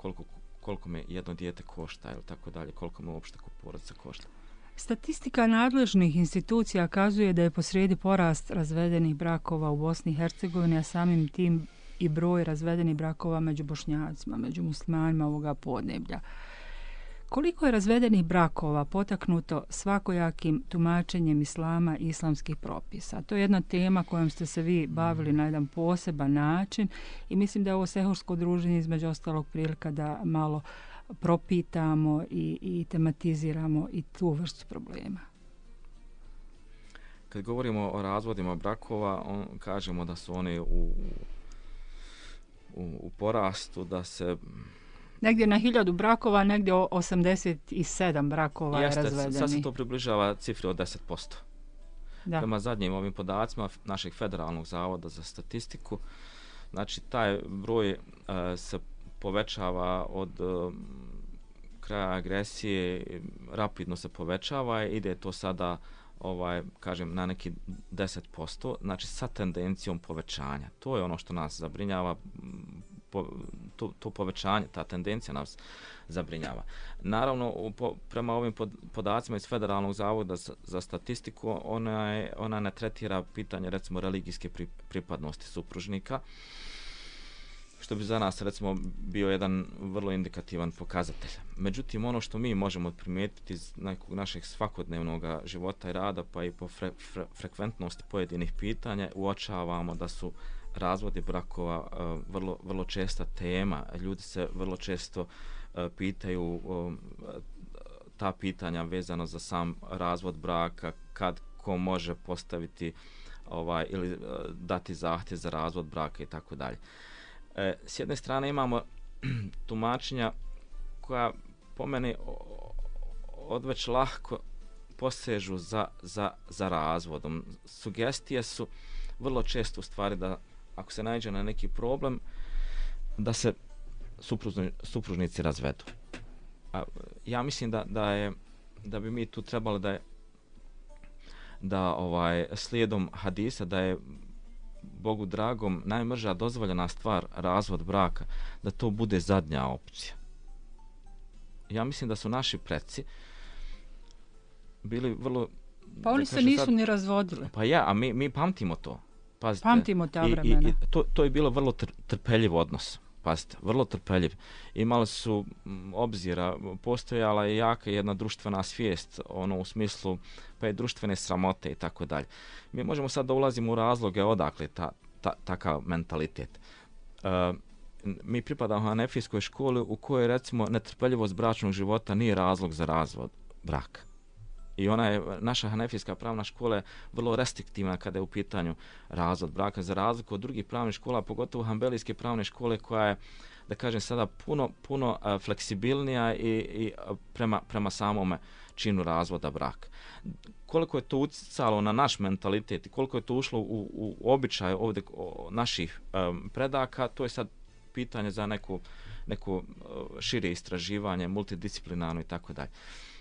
koliko me jedno dijete košta ili tako dalje, koliko me uopšte porodica košta. Statistika nadležnih institucija kazuje da je posrijedi porast razvedenih brakova u Bosni i Hercegovini, a samim tim i broj razvedenih brakova među Bošnjacima, među muslimanima ovoga podneblja. Koliko je razvedenih brakova potaknuto svakojakim tumačenjem islama i islamskih propisa? To je jedna tema kojom ste se vi bavili na jedan poseban način i mislim da je ovo sehursko druženje između ostalog prilika da malo propitamo i tematiziramo i tu vrstu problema. Kad govorimo o razvodima brakova, kažemo da su oni u porastu, da se... Negdje na 1000 brakova, negdje 87 brakova je razvedeni. Sad se to približava cifri od 10%. Da. Prema zadnjim ovim podacima našeg Federalnog zavoda za statistiku, znači taj broj se povećava od kraja agresije, rapidno se povećava i ide to sada kažem na neki 10%, znači sa tendencijom povećanja. To je ono što nas zabrinjava, to povećanje, ta tendencija nas zabrinjava. Naravno, prema ovim podacima iz Federalnog zavoda za statistiku, ona ne tretira pitanje recimo religijske pripadnosti supružnika, što bi za nas recimo bio jedan vrlo indikativan pokazatelj. Međutim, ono što mi možemo primijetiti iz nekog našeg svakodnevnog života i rada, pa i po frekventnosti pojedinih pitanja, uočavamo da su razvodi brakova vrlo česta tema. Ljudi se vrlo često pitaju ta pitanja vezano za sam razvod braka, kad ko može postaviti ili dati zahtjev za razvod braka i tako dalje. S jedne strane imamo tumačenja koja po meni odveć lahko posežu za razvodom. Sugestije su vrlo često u stvari da ako se naiđe na neki problem da se supružnici razvedu. Ja mislim da bi mi tu trebali da slijedom hadisa da je Bogu dragom najmrža dozvoljena stvar razvod braka, da to bude zadnja opcija. Ja mislim da su naši preci bili vrlo... Pa oni se nisu ni razvodili. Pa ja, a mi pamtimo to. Pazite, pamtimo ta vremena. I to je bilo vrlo trpeljiv odnos. Pazite, vrlo trpeljiv. Imali su obzira, postojala je jaka jedna društvena svijest, u smislu pa je društvene sramote i tako dalje. Mi možemo sad da ulazimo u razloge odakle takav mentalitet. Mi pripadamo hanefijskoj školi u kojoj recimo netrpeljivost bračnog života nije razlog za razvod braka. I naša hanefijska pravna škola je vrlo restriktivna kada je u pitanju razvod braka, za razliku od drugih pravnih škola, pogotovo hanbelijske pravne škole koja je, da kažem sada, puno fleksibilnija i prema samome činu razvoda braka. Koliko je to utjecalo na naš mentalitet i koliko je to ušlo u običaj ovdje naših predaka, to je sad pitanje za neko šire istraživanje, multidisciplinarno i tako dalje.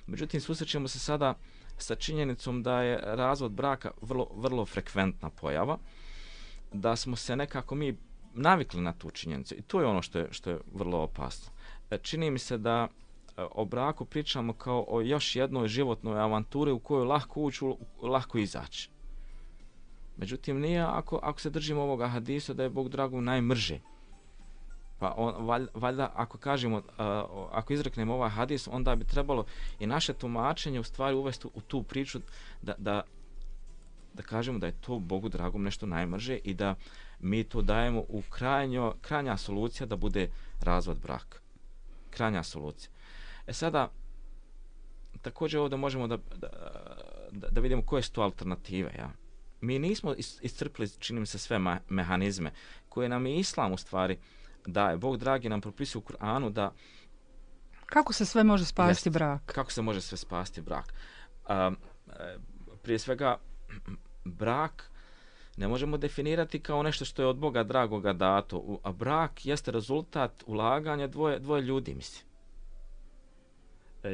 Međutim, susrećemo se sada sa činjenicom da je razvod braka vrlo frekventna pojava, da smo se nekako mi navikli na tu činjenicu i to je ono što je vrlo opasno. Čini mi se da o braku pričamo kao o još jednoj životnoj avanturi u kojoj lako ući, lako izaći. Međutim, nije ako se držimo ovoga hadisa da je Bog dragom najmrže. Pa valjda ako kažemo, ako izreknemo ovaj hadis, onda bi trebalo i naše tumačenje u stvari uvesti u tu priču da kažemo da je to Bogu dragom nešto najmrže i da mi to dajemo u krajnja solucija da bude razvod braka. Krajnja solucija. Sada, također ovdje možemo da vidimo koje su to alternative. Ja? Mi nismo iscrpili, čini mi se, sve mehanizme koje nam je Islam u stvari daje. Bog dragi nam propisuje u Kur'anu da... Kako se sve može spasti brak? Kako se može sve spasti brak? Prije svega, brak ne možemo definirati kao nešto što je od Boga dragoga dato, a brak jeste rezultat ulaganja dvoje ljudi, mislim.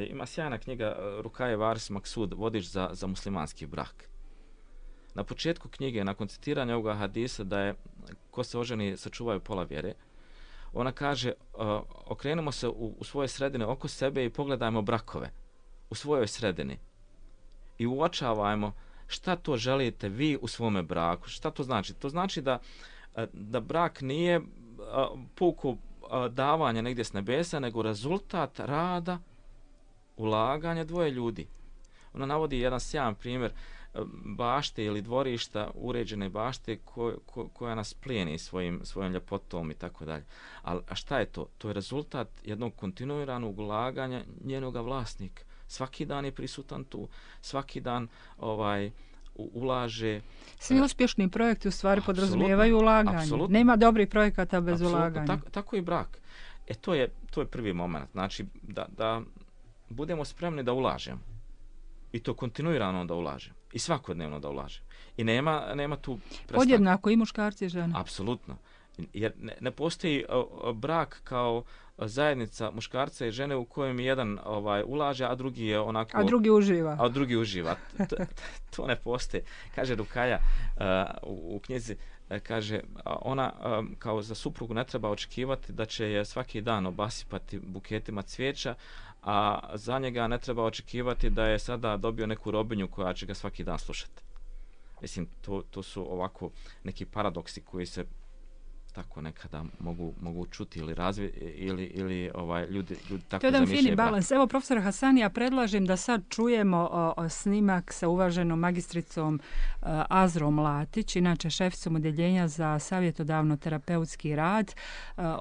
Ima sjajna knjiga Rukaje Varis Maksud, Vodič za muslimanski brak. Na početku knjige, nakon citiranja ovoga hadisa da je ko se oženi sačuvaju pola vjere, ona kaže, okrenimo se u svoje sredine oko sebe i pogledajmo brakove u svojoj sredini i uočavajmo šta to želite vi u svome braku. Šta to znači? To znači da brak nije puko davanje negdje s nebesa, nego rezultat rada, ulaganja dvoje ljudi. Ona navodi jedan sjajan primjer bašte ili dvorišta, uređene bašte koja nas plijeni svojom ljepotom i tako dalje. A šta je to? To je rezultat jednog kontinuiranog ulaganja njenoga vlasnika. Svaki dan je prisutan tu, svaki dan ulaže. Svi uspješni projekti u stvari podrazumijevaju ulaganje. Apsolutno. Nema dobrih projekata bez ulaganja. Tako i brak. To je prvi moment. Znači da budemo spremni da ulažemo. I to kontinuirano da ulažemo. I svakodnevno da ulažemo. I nema tu prestanka. Podjednako i muškarci i žene. Apsolutno. Jer ne postoji brak kao zajednica muškarca i žene u kojem jedan ulaže, a drugi je onako... A drugi uživa. To ne postoji. Kaže Rukaja u knjizi, kaže, ona kao za suprugu ne treba očekivati da će je svaki dan obasipati buketima cvijeća, a za njega ne treba očekivati da je sada dobio neku robinju koja će ga svaki dan slušati. Mislim, to su ovako neki paradoksi koji se tako nekada mogu čuti ili ili ljudi tako to je jedan fini balans. Evo, profesor Hasani, ja predlažem da sad čujemo snimak sa uvaženom magistricom Azrom Latić, inače šeficom odeljenja za savjetodavno-terapeutski rad.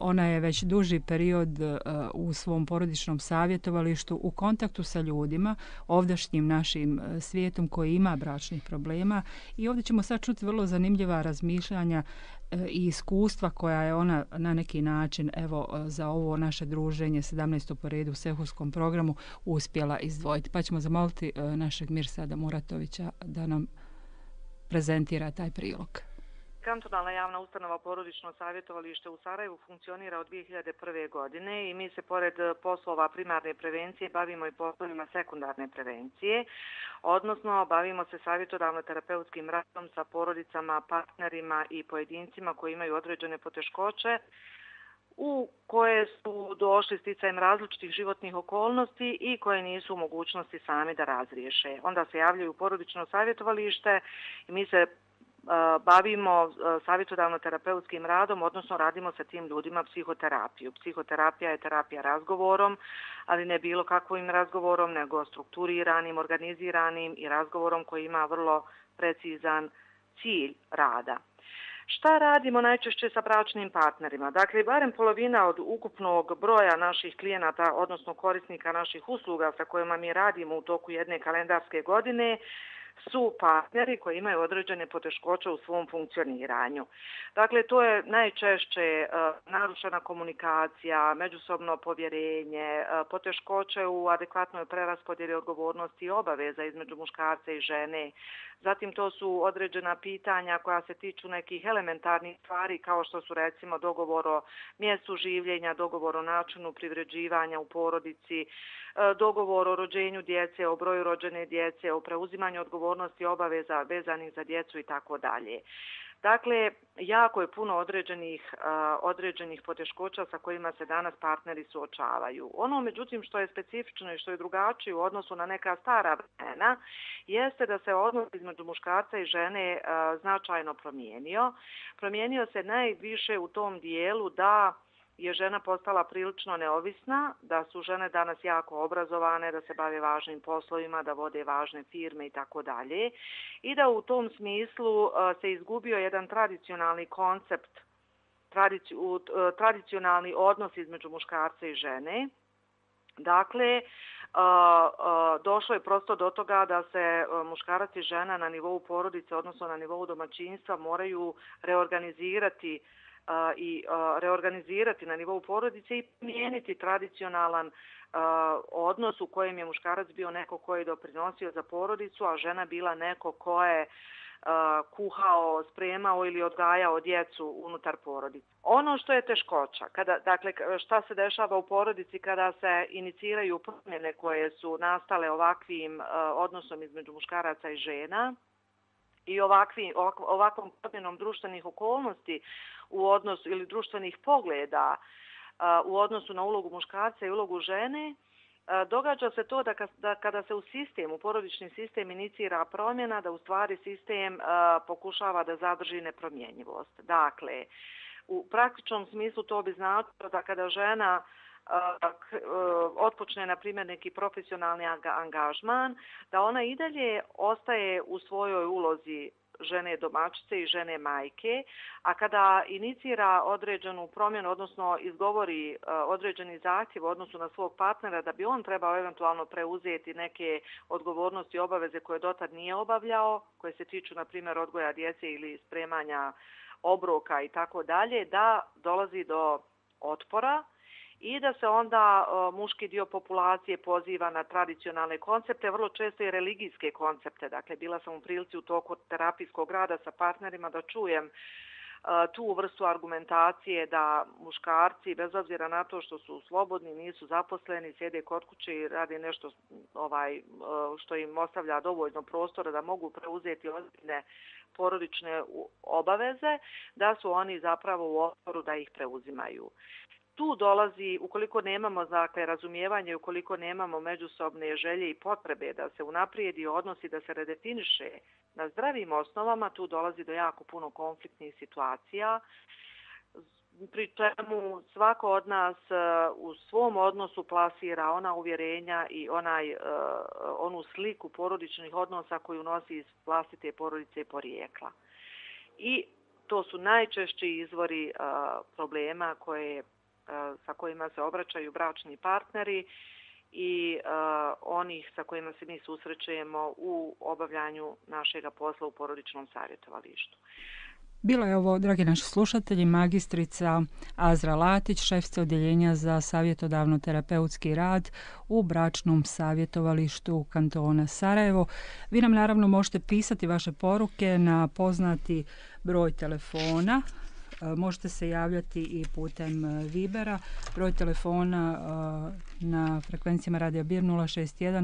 Ona je već duži period u svom porodičnom savjetovalištu u kontaktu sa ljudima, ovdašnjim našim svijetom koji ima bračnih problema, i ovdje ćemo sad čuti vrlo zanimljiva razmišljanja i iskustva koja je ona na neki način, evo, za ovo naše druženje 17. po redu u Sehurskom programu uspjela izdvojiti. Pa ćemo zamoliti našeg Mirsada Muratovića da nam prezentira taj prilog. Kantonalna javna ustanova Porodično savjetovalište u Sarajevu funkcionira od 2001. godine i mi se pored poslova primarne prevencije bavimo i poslovima sekundarne prevencije, odnosno bavimo se savjetodavno-terapeutskim radom sa porodicama, partnerima i pojedincima koji imaju određene poteškoće u koje su došli sticajem različitih životnih okolnosti i koje nisu u mogućnosti sami da razriješe. Onda se javljaju u porodično savjetovalište i mi se bavimo savjetodavno-terapeutskim radom, odnosno radimo sa tim ljudima psihoterapiju. Psihoterapija je terapija razgovorom, ali ne bilo kakvim razgovorom, nego strukturiranim, organiziranim i razgovorom koji ima vrlo precizan cilj rada. Šta radimo najčešće sa bračnim partnerima? Dakle, barem polovina od ukupnog broja naših klijenata, odnosno korisnika naših usluga sa kojima mi radimo u toku jedne kalendarske godine, su partneri koji imaju određene poteškoće u svom funkcioniranju. Dakle, to je najčešće narušena komunikacija, međusobno povjerenje, poteškoće u adekvatnoj preraspodjeli odgovornosti i obaveza između muškarca i žene. Zatim to su određena pitanja koja se tiču nekih elementarnih stvari kao što su recimo dogovor o mjestu življenja, dogovor o načinu privređivanja u porodici, dogovor o rođenju djece, o broju rođene djece, o preuzimanju odgovornosti obaveza vezanih za djecu i tako dalje. Dakle, jako je puno određenih poteškoća sa kojima se danas partneri suočavaju. Ono, međutim, što je specifično i što je drugačije u odnosu na neka stara vremena, jeste da se odnos između muškarca i žene značajno promijenio. Promijenio se najviše u tom dijelu da je žena postala prilično neovisna, da su žene danas jako obrazovane, da se bave važnim poslovima, da vode važne firme i tako dalje. I da u tom smislu se izgubio jedan tradicionalni koncept, tradicionalni odnos između muškarca i žene. Dakle, došlo je prosto do toga da se muškarac i žena na nivou porodice, odnosno na nivou domaćinstva, moraju reorganizirati na nivou porodice i promijeniti tradicionalan odnos u kojem je muškarac bio neko ko je doprinosio za porodicu, a žena bila neko ko je kuhao, spremao ili odgajao djecu unutar porodice. Ono što je teškoća, dakle šta se dešava u porodici kada se iniciraju promjene koje su nastale ovakvim odnosom između muškaraca i žena, i ovakvom promjenom društvenih okolnosti u odnosu ili društvenih pogleda u odnosu na ulogu muškarca i ulogu žene, događa se to da kada se u porodični sistem inicira promjena, da u stvari sistem pokušava da zadrži nepromjenjivost. Dakle, u praktičnom smislu to bi značilo da kada žena otpočne, na primjer, neki profesionalni angažman, da ona i dalje ostaje u svojoj ulozi žene domaćice i žene majke, a kada inicira određenu promjenu, odnosno izgovori određeni zahtjev u odnosu na svog partnera da bi on trebao eventualno preuzeti neke odgovornosti i obaveze koje dotad nije obavljao, koje se tiču, na primjer, odgoja djece ili spremanja obroka i tako dalje, da dolazi do otpora i da se onda muški dio populacije poziva na tradicionalne koncepte, vrlo često i religijske koncepte. Dakle, bila sam u prilici u toku terapijskog rada sa partnerima da čujem tu vrstu argumentacije da muškarci, bez obzira na to što su slobodni, nisu zaposleni, sjede kod kuće i rade nešto što im ostavlja dovoljno prostora da mogu preuzeti ozbiljne porodične obaveze, da su oni zapravo u otporu da ih preuzimaju. Tu dolazi, ukoliko nemamo razumijevanje, ukoliko nemamo međusobne želje i potrebe da se unaprijedi odnos i da se redefiniše na zdravim osnovama, tu dolazi do jako puno konfliktnih situacija pri čemu svako od nas u svom odnosu plasira ona uvjerenja i onu sliku porodičnih odnosa koju nosi iz vlastite porodice i porijekla. I to su najčešći izvori problema sa kojima se obraćaju bračni partneri i onih sa kojima se mi susrećemo u obavljanju našega posla u porodičnom savjetovalištu. Bila je ovo, dragi naši slušatelji, magistrica Azra Latić, šefica odjeljenja za savjetodavno-terapeutski rad u bračnom savjetovalištu kantona Sarajevo. Vi nam naravno možete pisati vaše poruke na poznati broj telefona. Možete se javljati i putem Vibera. Broj telefona na frekvencijama Radio Bir 061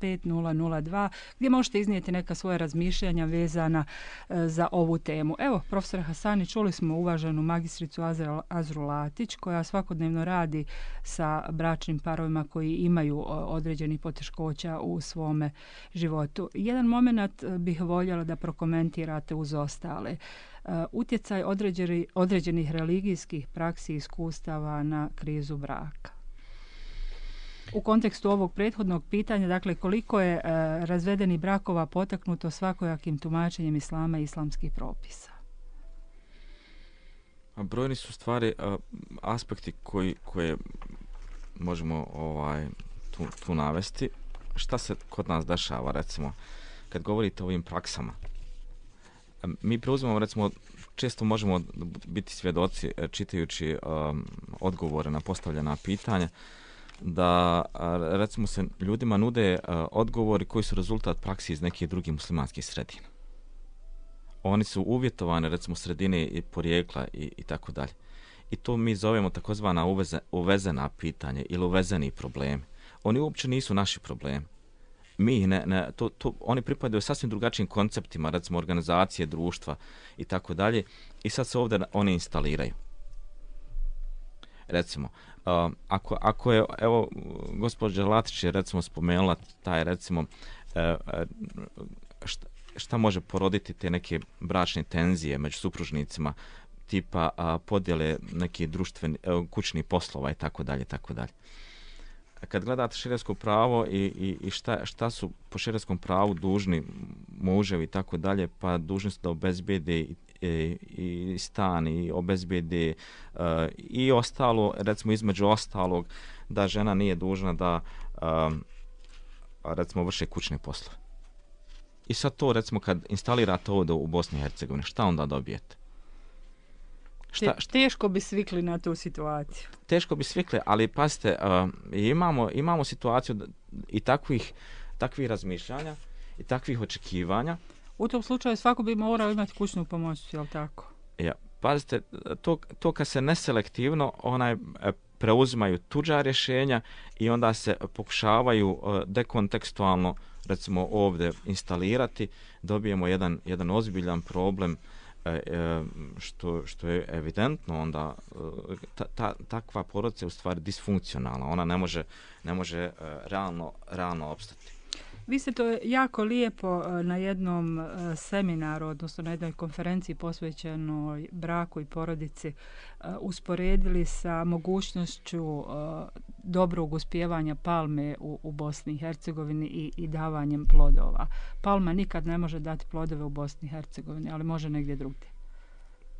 065 002 gdje možete iznijeti neka svoja razmišljanja vezana za ovu temu. Evo, profesor Hasani, čuli smo uvaženu magistricu Azru Latić koja svakodnevno radi sa bračnim parovima koji imaju određenih poteškoća u svome životu. Jedan moment bih voljela da prokomentirate uz ostale. Utjecaj određenih religijskih praksi i iskustava na krizu braka. U kontekstu ovog prethodnog pitanja, dakle, koliko je razvedenih brakova potaknuto svakojakim tumačenjem islama i islamskih propisa? Brojni su stvari aspekti koje možemo tu navesti. Šta se kod nas dešava, recimo, kad govorite o ovim praksama? Mi preuzimamo, recimo, često možemo biti svjedoci čitajući odgovore na postavljena pitanja, da recimo se ljudima nude odgovori koji su rezultat praksi iz nekih drugih muslimanskih sredina. Oni su uvjetovani, recimo, sredine i porijekla i tako dalje. I to mi zovemo takozvana uvezena pitanja ili uvezeni problemi. Oni uopće nisu naši problemi. Oni pripadaju sasvim drugačijim konceptima, recimo organizacije, društva i tako dalje, i sad se ovdje oni instaliraju. Recimo, ako je, evo, gospođa Latić je recimo spomenula taj, recimo, šta može poroditi te neke bračne tenzije među supružnicima, tipa podjele nekih kućnih poslova i tako dalje, tako dalje. Kad gledate šerijatsko pravo i šta su po šerijskom pravu dužni muževi i tako dalje, pa dužni su da obezbijede i stan i obezbijede i ostalo, recimo između ostalog, da žena nije dužna da recimo vrše kućne poslove. I sad to, recimo, kad instalirate ovdje u Bosni i Hercegovini, šta onda dobijete? Teško bi svikli na tu situaciju. Teško bi svikli, ali pazite, imamo situaciju i takvih razmišljanja i takvih očekivanja. U tom slučaju svako bi morao imati kućnu pomoć, je li tako? Ja, pazite, to kad se neselektivno preuzimaju tuđa rješenja i onda se pokušavaju dekontekstualno, recimo, ovdje instalirati, dobijemo jedan ozbiljan problem, što je evidentno, onda takva porodica je u stvari disfunkcionalna, ona ne može realno opstati. Vi ste to jako lijepo na jednom seminaru, odnosno na jednoj konferenciji posvećenoj braku i porodici usporedili sa mogućnošću dobrog uspijevanja palme u Bosni i Hercegovini i davanjem plodova. Palma nikad ne može dati plodove u Bosni i Hercegovini, ali može negdje drugdje.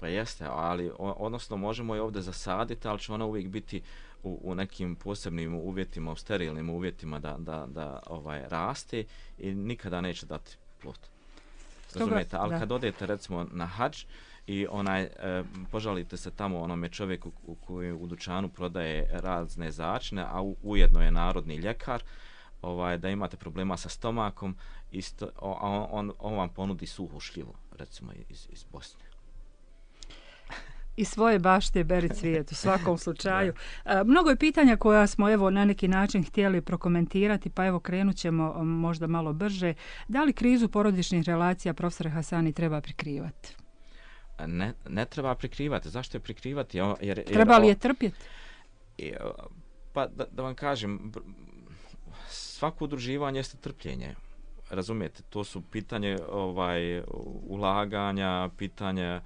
Pa jeste, ali odnosno možemo je ovdje zasaditi, ali će ona uvijek biti u nekim posebnim uvjetima, u sterilnim uvjetima da raste i nikada neće dati plod. Razumijete? Ali kad odete, recimo, na hadž i požalite se tamo onome čovjeku koji u dućanu prodaje razne začine, a ujedno je narodni ljekar, da imate problema sa stomakom, on vam ponudi suhu šljivu, recimo, iz Bosne. I svoje bašte beri cvijet u svakom slučaju. Mnogo je pitanja koja smo evo na neki način htjeli prokomentirati, pa evo krenut ćemo možda malo brže. Da li krizu porodičnih relacija, profesore Hasani, treba prikrivati? Ne treba prikrivati. Zašto je prikrivati? Treba li je trpjeti? Pa da vam kažem, svako udruživanje jeste trpljenje. Razumijete, to su pitanje ulaganja, pitanje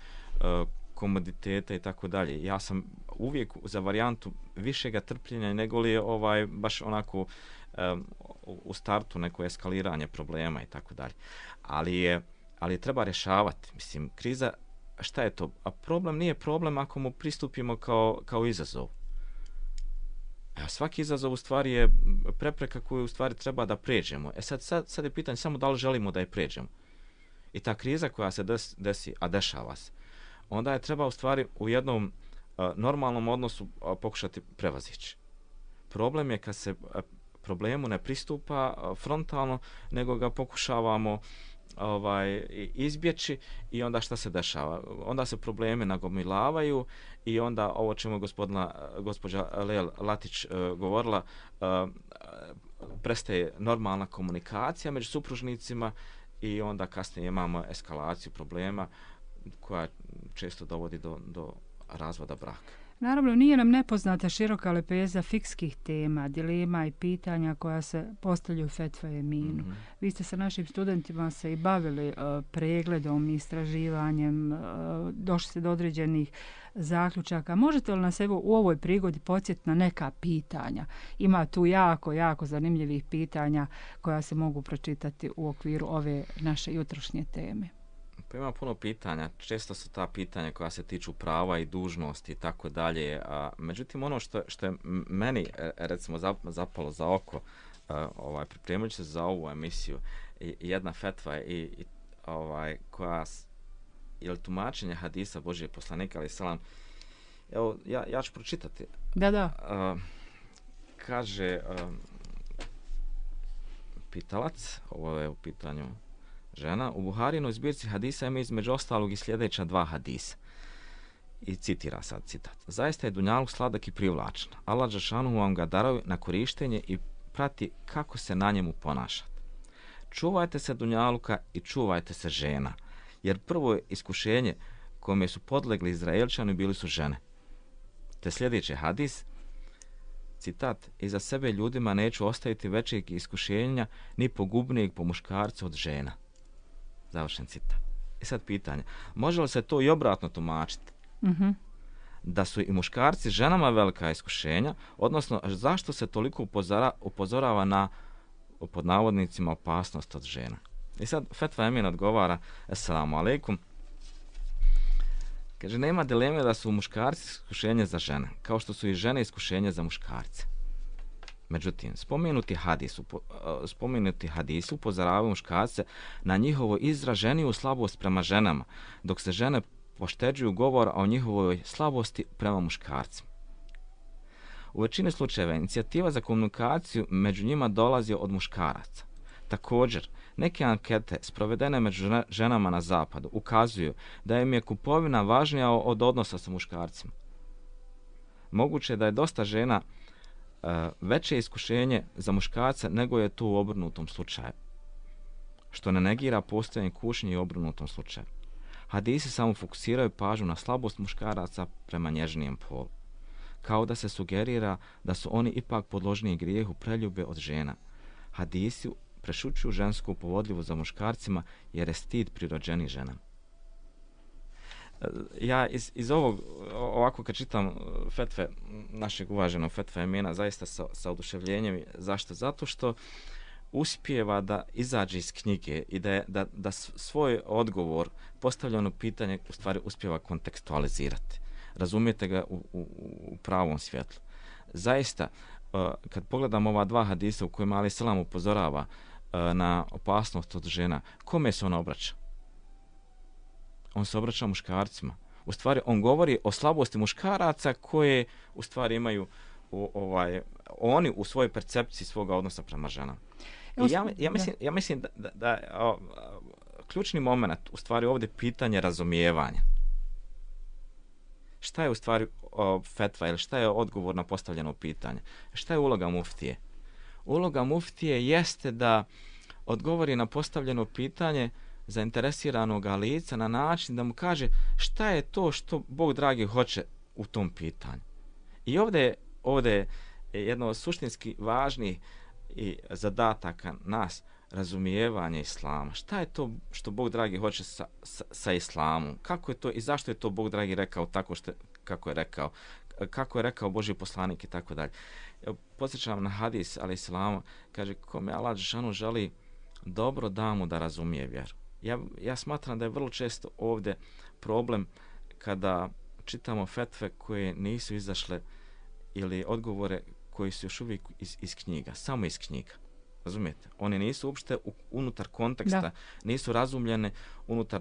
komoditeta i tako dalje. Ja sam uvijek za varijantu višega trpljenja nego li je baš onako u startu neko eskaliranje problema i tako dalje. Ali treba rješavati. Mislim, kriza, šta je to? A problem nije problem ako mu pristupimo kao izazov. Svaki izazov u stvari je prepreka koju u stvari treba da pređemo. Sad je pitanje samo da li želimo da je pređemo. I ta kriza koja se desi, a dešava se, onda je treba u stvari u jednom normalnom odnosu pokušati prevazići. Problem je kad se problemu ne pristupa frontalno, nego ga pokušavamo izbjeći i onda šta se dešava? Onda se problemi nagomilavaju i onda ovo čemu gospođa Lea Latić govorila, prestaje normalna komunikacija među supružnicima i onda kasnije imamo eskalaciju problema koja često dovodi do razvoda braka. Naravno, nije nam nepoznata široka lepeza fikskih tema, dilema i pitanja koja se postavljaju fetva eminu. Mm-hmm. Vi ste sa našim studentima se i bavili pregledom i istraživanjem, došli ste do određenih zaključaka. Možete li nas evo u ovoj prigodi podsjetiti na neka pitanja? Ima tu jako zanimljivih pitanja koja se mogu pročitati u okviru ove naše jutrošnje teme. Pa ima puno pitanja, često su ta pitanja koja se tiču prava i dužnosti i tako dalje, međutim ono što je meni recimo zapalo za oko pripremajući se za ovu emisiju, jedna fetva koja ili tumačenje hadisa Božije poslanika alejhi selam. Evo ja ću pročitati. Da. Kaže pitalac, ovo je u pitanju žena, u Buharinoj zbirci hadisa ima između ostalog i sljedeća 2 hadisa. I citira sad citat. Zaista je dunjaluk sladak i privlačan. Allah dželešanu vam ga daruje na korištenje i prati kako se na njemu ponašate. Čuvajte se dunjaluka i čuvajte se žena, jer prvo iskušenje kome su podlegli Izraelčani bili su žene. Te sljedeći hadis, citat, iza sebe ljudima neću ostaviti većeg iskušenja ni pogubnijeg po muškarcu od žena. Završen citat. I sad pitanje, može li se to i obratno tumačiti? Mm-hmm. Da su i muškarci ženama velika iskušenja, odnosno zašto se toliko upozorava na, pod navodnicima, opasnost od žena? I sad fetva Emin odgovara, assalamu alaikum, kaže, nema dileme da su muškarci iskušenje za žene, kao što su i žene iskušenje za muškarce. Međutim, spomenuti hadisi upozoravaju muškarce na njihovu izraženiju slabost prema ženama, dok se žene pošteđuju govora o njihovoj slabosti prema muškarcima. U većini slučajeva inicijativa za komunikaciju među njima dolazi od muškaraca. Također, neke ankete sprovedene među ženama na zapadu ukazuju da im je kupovina važnija od odnosa sa muškarcima. Moguće je da je dosta žena veće iskušenje za muškarca nego je to u obrnutom slučaju, što ne negira postojanje kušnje i obrnutom slučaju. Hadisi samo fokusiraju pažnju na slabost muškaraca prema nježnijem polu, kao da se sugerira da su oni ipak podložniji grijehu preljube od žena. Hadisi prešućuju žensku povodljivost za muškarcima jer je stid prirođeni ženama. Ja iz ovog, ovako kad čitam fetve, našeg uvaženog fetve Emina, zaista sa oduševljenjem. Zašto? Zato što uspijeva da izađe iz knjige i da svoj odgovor, postavljeno pitanje, u stvari uspijeva kontekstualizirati. Razumijete ga u pravom svjetlu. Zaista, kad pogledam ova 2 hadisa u kojima alejhi selam upozorava na opasnost od žena, kome se on obraća? On se obraća muškarcima. U stvari, on govori o slabosti muškaraca koje u stvari imaju oni u svojoj percepciji svoga odnosa prema ženama. Ja mislim da ključni moment u stvari ovdje pitanje razumijevanja. Šta je u stvari fetva ili šta je odgovor na postavljeno pitanje? Šta je uloga muftije? Uloga muftije jeste da odgovori na postavljeno pitanje zainteresiranog lica na način da mu kaže šta je to što Bog dragi hoće u tom pitanju. I ovdje je jedno od suštinski važnih zadataka nas, razumijevanje islama. Šta je to što Bog dragi hoće sa islamom? Kako je to i zašto je to Bog dragi rekao tako kako je rekao? Kako je rekao Božji poslanik i tako dalje. Podsjećam na hadis, ali islamu, kaže, kome Allah dželešanu želi dobro, da mu da razumije vjeru. Ja smatram da je vrlo često ovdje problem kada čitamo fetve koje nisu izašle ili odgovore koji su još uvijek iz knjiga, samo iz knjiga. Razumijete? Oni nisu uopšte unutar konteksta, nisu razumljene unutar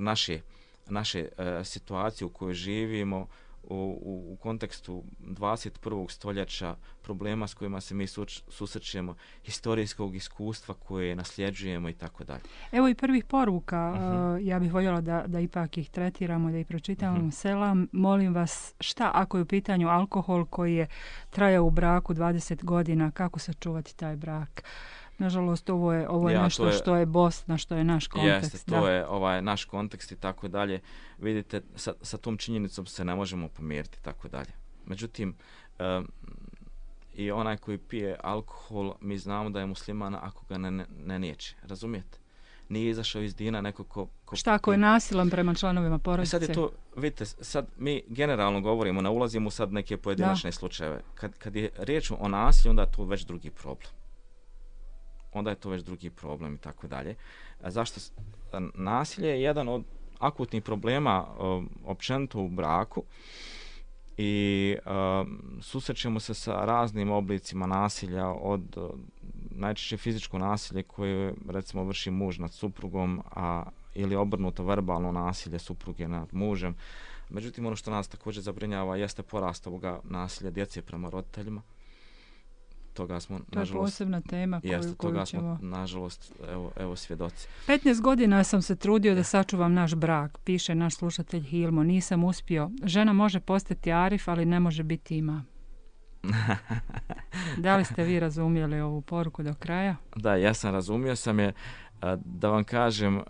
naše situacije u kojoj živimo, u kontekstu 21. stoljeća, problema s kojima se mi susrećemo, historijskog iskustva koje nasljeđujemo i tako dalje. Evo i prvih poruka, ja bih voljela da ipak ih tretiramo, da ih pročitamo. Selam, molim vas, šta ako je u pitanju alkohol koji je trajao u braku 20 godina, kako sačuvati taj brak? Nažalost, ovo je nešto što je Bosna, što je naš kontekst. Jeste, to je naš kontekst i tako dalje. Vidite, sa tom činjenicom se ne možemo pomiriti i tako dalje. Međutim, i onaj koji pije alkohol, mi znamo da je musliman ako ga ne niječe. Razumijete? Nije izašao iz dina neko ko šta ako je nasilan prema članovima porodice? Sad je to, vidite, sad mi generalno govorimo, ne ulazimo sad neke pojedinačne slučajeve. Kad je riječ o nasilju, onda je to već drugi problem. I tako dalje. Zašto? Nasilje je jedan od akutnih problema općenito u braku i susrećemo se sa raznim oblicima nasilja, od najčešće fizičko nasilje koje recimo vrši muž nad suprugom, ili obrnuto verbalno nasilje supruge nad mužem. Međutim, ono što nas također zabrinjava jeste porast ovoga nasilja djece prema roditeljima. Toga smo, to je posebna tema koju ćemo... nažalost, evo svjedoci. 15 godina sam se trudio da sačuvam naš brak, piše naš slušatelj Hilmo. Nisam uspio. Žena može postati Arif, ali ne može biti imam. Da li ste vi razumjeli ovu poruku do kraja? Da, ja sam razumio sam je. Da vam kažem,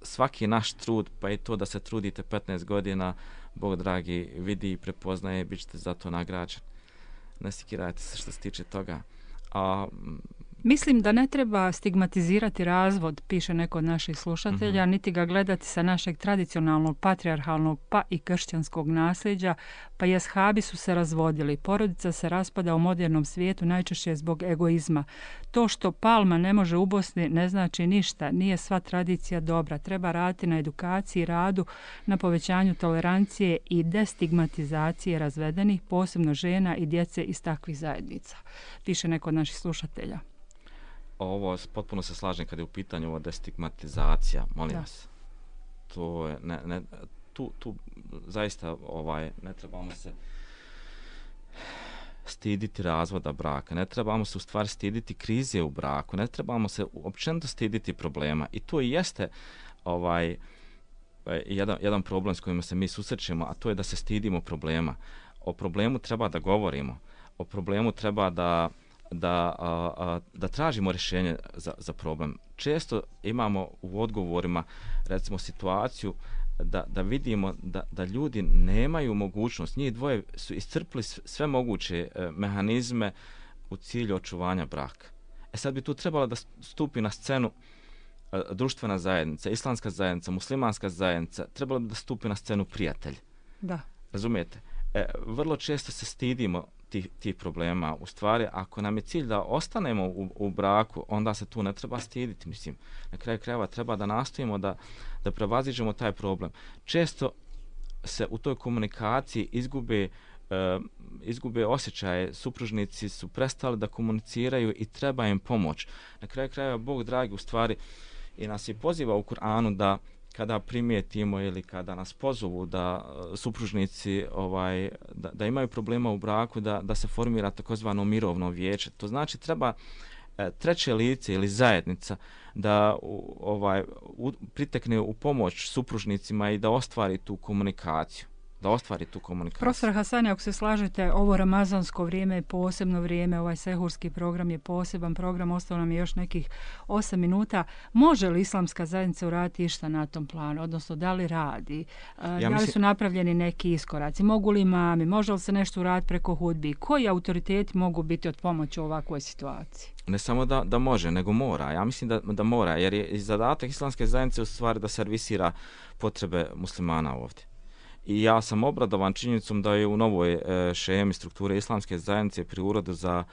svaki naš trud, pa i to da se trudite 15 godina, Bog dragi vidi i prepoznaje, bit ćete za to nagrađeni. Ne sikirajte se što se tiče toga. Mislim da ne treba stigmatizirati razvod, piše neko od naših slušatelja, niti ga gledati sa našeg tradicionalnog, patrijarhalnog pa i kršćanskog nasljeđa, pa i ashabi su se razvodili. Porodica se raspada u modernom svijetu najčešće zbog egoizma. To što palma ne može u Bosni ne znači ništa, nije sva tradicija dobra. Treba raditi na edukaciji, radu, na povećanju tolerancije i destigmatizacije razvedenih, posebno žena i djece iz takvih zajednica, piše neko od naših slušatelja. Ovo potpuno se slažem kad je u pitanju ova destigmatizacija, molim vas. To je tu zaista ne trebamo se stiditi razvoda braka, ne trebamo se u stvari stiditi krize u braku, ne trebamo se općenito stiditi problema i to i jeste jedan problem s kojim se mi susrećemo, a to je da se stidimo problema. O problemu treba da govorimo, o problemu treba da tražimo rješenje za problem. Često imamo u odgovorima recimo situaciju da vidimo da ljudi nemaju mogućnost, njih dvoje su iscrpili sve moguće mehanizme u cilju očuvanja braka. Sad bi tu trebalo da stupi na scenu društvena zajednica, islamska zajednica, muslimanska zajednica, trebalo bi da stupi na scenu prijatelj. Da. Razumijete? Vrlo često se stidimo tih problema. U stvari, ako nam je cilj da ostanemo u braku, onda se tu ne treba stiditi. Mislim, na kraju krajeva treba da nastojimo da prevaziđemo taj problem. Često se u toj komunikaciji izgube osjećaje, supružnici su prestali da komuniciraju i treba im pomoć. Na kraju krajeva Bog dragi u stvari i nas je poziva u Kur'anu da kada primijetimo ili kada nas pozovu da supružnici da imaju problema u braku, da se formira takozvano mirovno vijeće. To znači treba treće lice ili zajednica da pritekne u pomoć supružnicima i da ostvari tu komunikaciju. da ostvari tu komunikaciju. Profesor Hasani, ako se slažete, ovo ramazansko vrijeme je posebno vrijeme, ovaj sehurski program je poseban program, ostalo nam je još nekih 8 minuta. Može li islamska zajednica uraditi išta na tom planu, odnosno da li radi? Da li su napravljeni neki iskoraci? Mogu li imami? Može li se nešto uraditi preko hudbi? Koji autoriteti mogu biti od pomoći u ovakvoj situaciji? Ne samo da može, nego mora. Ja mislim da mora, jer je zadatak islamske zajednice u stvari da servisira potrebe muslimana ovdje. I ja sam obradovan činjenicom da je u novoj šemi strukture islamske zajednice pri Uredu za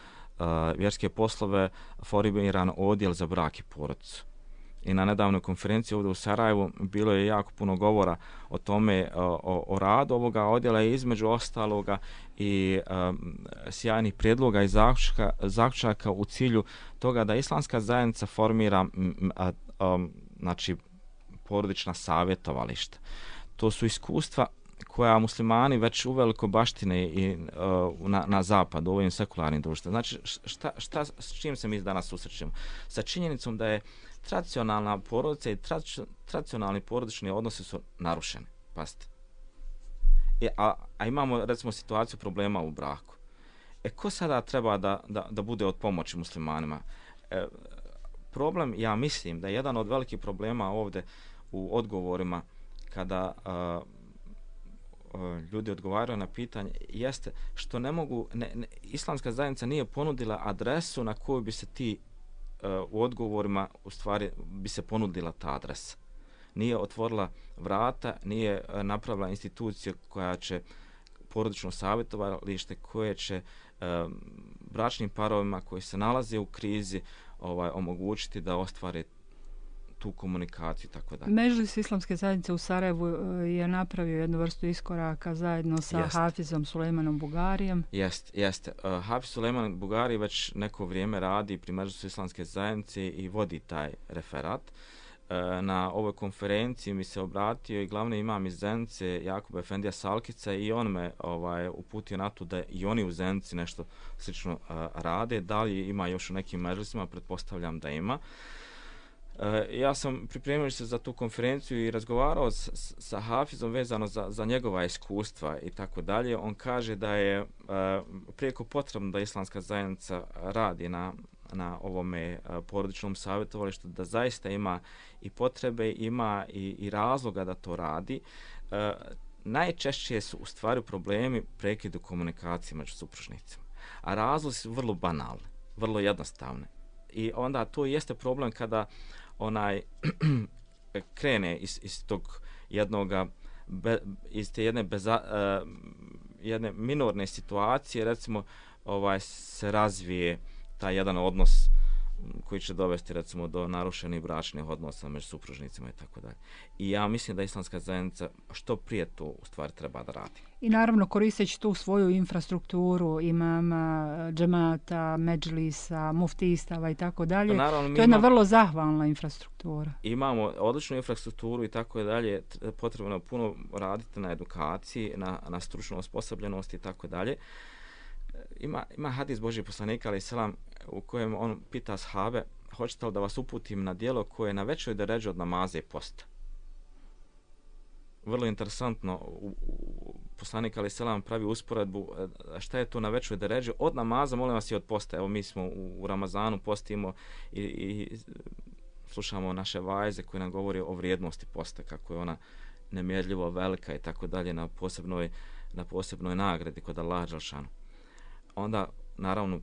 vjerske poslove formiran odjel za brak i porodicu. I na nedavnoj konferenciji ovdje u Sarajevu bilo je jako puno govora o tome, o radu ovoga odjela i između ostaloga i sjajnih prijedloga i zaključaka u cilju toga da islamska zajednica formira znači porodična savjetovališta. To su iskustva koja muslimani već uveliko baštine i na zapadu, u ovim sekularnim društvima. Znači, s čim se mi danas susrećemo? Sa činjenicom da je tradicionalna porodica i tradicionalni porodični odnosi su narušeni. Pazite. A imamo, recimo, situaciju problema u braku. Ko sada treba da bude od pomoći muslimanima? Problem, ja mislim, da je jedan od velikih problema ovdje u odgovorima kada ljudi odgovaraju na pitanje jeste što ne mogu, islamska zajednica nije ponudila adresu na koju bi se ti u odgovorima u stvari bi se ponudila ta adresa. Nije otvorila vrata, nije napravila instituciju koja će porodično savjetovalište koje će bračnim parovima koji se nalaze u krizi omogućiti da ostvare tu komunikaciju i tako dalje. Medžlis islamske zajednice u Sarajevu je napravio jednu vrstu iskoraka zajedno sa Hafizom Sulejmanom Bugarijem. Jeste. Hafiz Sulejman Bugari već neko vrijeme radi pri Medžlisu islamske zajednice i vodi taj referat. Na ovoj konferenciji mi se obratio i glavni imam iz Zenice, Jakub Efendija Salkica, i on me uputio na to da i oni u Zenici nešto slično rade. Da li ima još u nekim medžlisima? Pretpostavljam da ima. Ja sam pripremio se za tu konferenciju i razgovarao sa Hafizom vezano za njegova iskustva i tako dalje. On kaže da je prijeko potrebno da islamska zajednica radi na ovome porodičnom savjetovalištu, da zaista ima i potrebe, ima i razloga da to radi. Najčešće su u stvari problemi prekidu komunikacije među supružnicima, a razlozi su vrlo banalni, vrlo jednostavni. I onda to jeste problem kada krene iz tog jednoga iz te jedne minorne situacije, recimo se razvije taj jedan odnos koji će dovesti recimo do narušenih bračnih odnosa među supružnicima i tako dalje. I ja mislim da islamska zajednica što prije to u stvari treba da radi. I naravno koristeći tu svoju infrastrukturu, imama, džemata, medžlisa, muftistava i tako dalje. To je jedna vrlo zahvalna infrastruktura. Imamo odličnu infrastrukturu i tako dalje. Potrebno je puno raditi na edukaciji, na stručnoj osposobljenosti i tako dalje. Ima hadis Božji poslanika alejhi selam u kojem on pita ashabe: hoćete li da vas uputim na djelo koje je na većoj deređi od namaza i posta? Vrlo interesantno, poslanik alejhi selam pravi usporedbu šta je to na većoj deređi od namaza, molim vas, i od posta. Evo, mi smo u Ramazanu, postimo i slušamo naše vajze koje nam govori o vrijednosti posta, kako je ona nemjerljivo velika i tako dalje, na posebnoj nagradi kod Allaha dželešanu. Onda, naravno,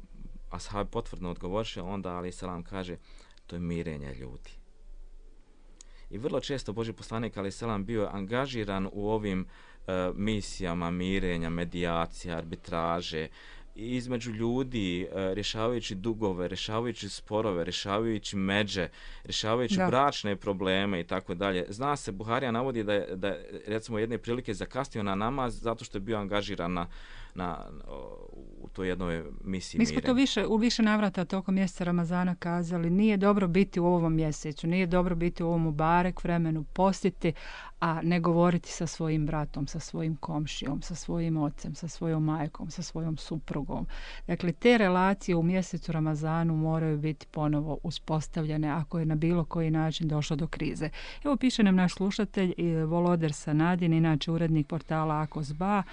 ashab potvrdno odgovoriše, onda alejhi selam kaže: to je mirenje ljudi. I vrlo često Božji poslanik alejhi selam bio angažiran u ovim misijama mirenja, medijacija, arbitraže između ljudi, rješavajući dugove, rješavajući sporove, rješavajući međe, rješavajući bračne probleme i tako dalje. Zna se, Buharija navodi da recimo jedne prilike zakasnio na namaz zato što je bio angažiran u toj jednoj misiji. Mi smo to u više navrata tokom mjeseca Ramazana kazali, nije dobro biti u ovom mjesecu, nije dobro biti u ovom mubarek vremenu, postiti, a ne govoriti sa svojim bratom, sa svojim komšijom, sa svojim ocem, sa svojom majkom, sa svojom suprugom. Dakle, te relacije u mjesecu Ramazanu moraju biti ponovo uspostavljene ako je na bilo koji način došlo do krize. Evo piše nam naš slušatelj Voloder Sanadin, inače urednik portala Akosba.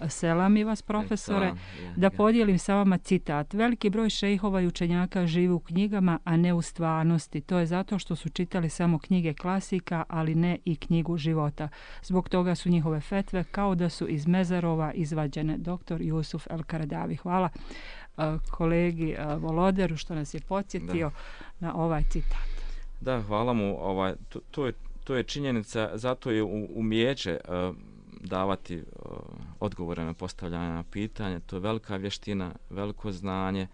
Selami vas, profesore, da podijelim sa vama citat. Veliki broj šejhova i učenjaka živi u knjigama, a ne u stvarnosti. To je zato što su čitali samo knjige klasika, ali ne i knjigu života. Zbog toga su njihove fetve kao da su iz mezarova izvađene. Dr. Jusuf El-Karadavi. Hvala kolegi Voloderu što nas je podsjetio na ovaj citat. Da, hvala mu. To je činjenica, zato je umijeće davati odgovore na postavljanje pitanja. To je velika vještina, veliko znanje,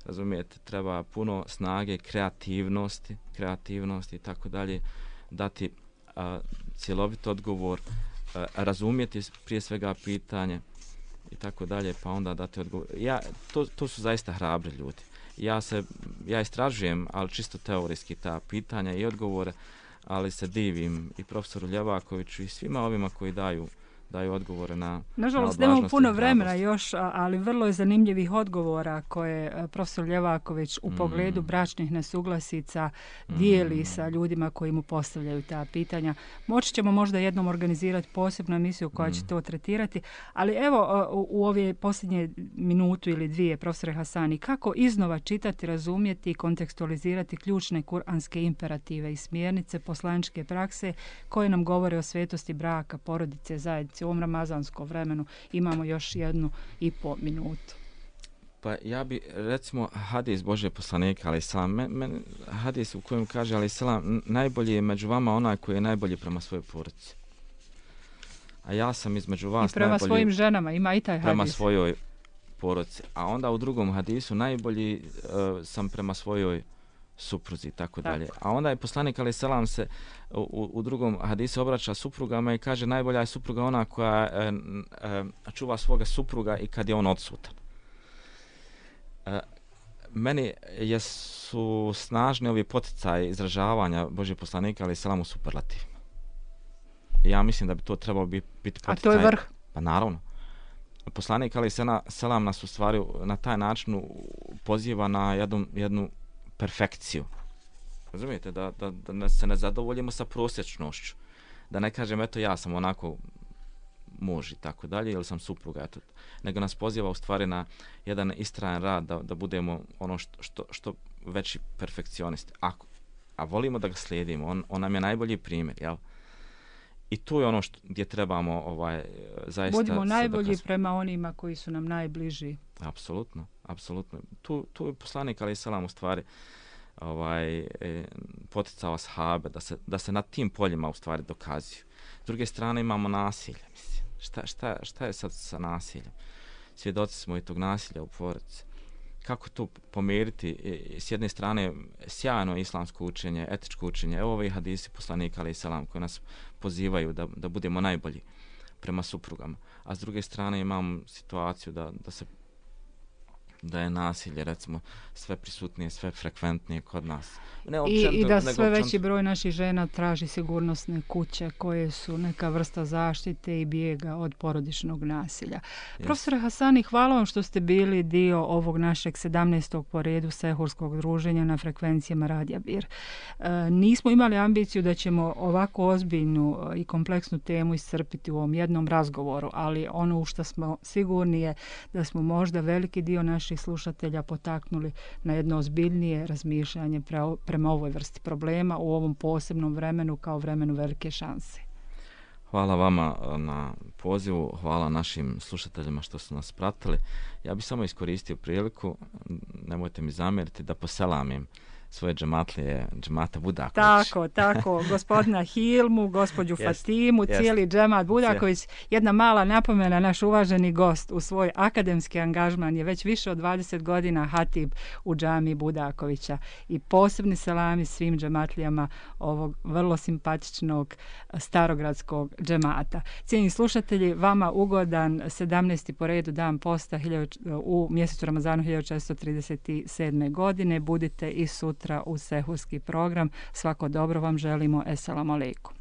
razumijete, treba puno snage, kreativnosti i tako dalje, dati cjelovit odgovor, razumjeti prije svega pitanje i tako dalje, pa onda dati odgovor. To su zaista hrabri ljudi. Ja istražujem, ali čisto teorijski ta pitanja i odgovore, ali se divim i profesoru Ljevakoviću i svima ovima koji daju odgovore na nažalost nemamo puno vremena još, ali vrlo je zanimljivih odgovora koje profesor Ljevaković u pogledu bračnih nesuglasica dijeli sa ljudima koji mu postavljaju ta pitanja. Moći ćemo možda jednom organizirati posebnu emisiju koja će to tretirati, ali evo u ove posljednje minutu ili dvije, profesore Hasani, kako iznova čitati, razumjeti i kontekstualizirati ključne kuranske imperative i smjernice poslaničke prakse koje nam govore o svetosti braka, porodice, zajednice. U ovom ramazanskom vremenu imamo još 1,5 minutu. Pa ja bi, recimo, hadis Božje poslanika, ali selam, hadis u kojem kaže, ali selam, najbolji je među vama onaj koji je najbolji prema svojoj porodici. A ja sam između vas i prema najbolji svojim ženama, ima i taj hadis. Prema svojoj porodici. A onda u drugom hadisu najbolji sam prema svojoj supruzi i tako dalje. A onda je poslanik alejhi selam se u drugom hadisu obraća suprugama i kaže najbolja je supruga ona koja čuva svoga supruga i kad je on odsutan. Meni su snažni ovi poticaji izražavanja Božjeg poslanika alejhi selam u superlativima. Ja mislim da bi to trebalo biti poticaj. A to je vrh? Pa naravno. Poslanik alejhi selam nas u stvari na taj način poziva na jednu perfekciju. Razumijete? Da se ne zadovoljimo sa prosječnošću. Da ne kažem, eto ja sam onako muž i tako dalje, ili sam supruga, eto. Nego nas poziva u stvari na jedan istrajan rad da budemo ono što veći perfekcionisti. A volimo da ga slijedimo. On nam je najbolji primjer, jel? I to je ono gdje trebamo zaista... Budimo najbolji prema onima koji su nam najbliži. Apsolutno. Tu je poslanik alejhi selam u stvari poticao ashabe da se na tim poljima u stvari dokazuju. S druge strane imamo nasilje, mislim. Šta je sad sa nasiljem? Svjedoci smo i tog nasilja u porodici. Kako to pomiriti? S jedne strane sjajno islamsko učenje, etičko učenje. Evo ovi hadisi poslanika alejhi selam koji nas pozivaju da budemo najbolji prema suprugama. A s druge strane imam situaciju da je nasilje, recimo, sve prisutnije, sve frekventnije kod nas. I da sve veći broj naših žena traži sigurnosne kuće koje su neka vrsta zaštite i bijega od porodičnog nasilja. Yes. Profesore Hasani, hvala vam što ste bili dio ovog našeg 17. po redu sehurskog druženja na frekvencijama Radija Bir. Nismo imali ambiciju da ćemo ovako ozbiljnu i kompleksnu temu iscrpiti u ovom jednom razgovoru, ali ono u što smo sigurni je da smo možda veliki dio naših slušatelja potaknuli na jedno ozbiljnije razmišljanje prema ovoj vrsti problema u ovom posebnom vremenu kao vremenu velike šanse. Hvala vama na pozivu, hvala našim slušateljima što su nas pratili. Ja bih samo iskoristio priliku, nemojte mi zamjeriti, da poselamim svoje džematlije, džemata Budaković. Tako, gospodina Hilmu, gospođu Fatimu, cijeli džemat Budaković. Jedna mala napomena, naš uvaženi gost u svoj akademski angažman je već više od 20 godina hatib u džami Budakovića. I posebni selami svim džematlijama ovog vrlo simpatičnog starogradskog džemata. Cijenjeni slušatelji, vama ugodan 17. po redu dan posta u mjesecu Ramazanu 1437. godine. Budite i sutra u sehurski program. Svako dobro vam želimo. Eselamu alejkum.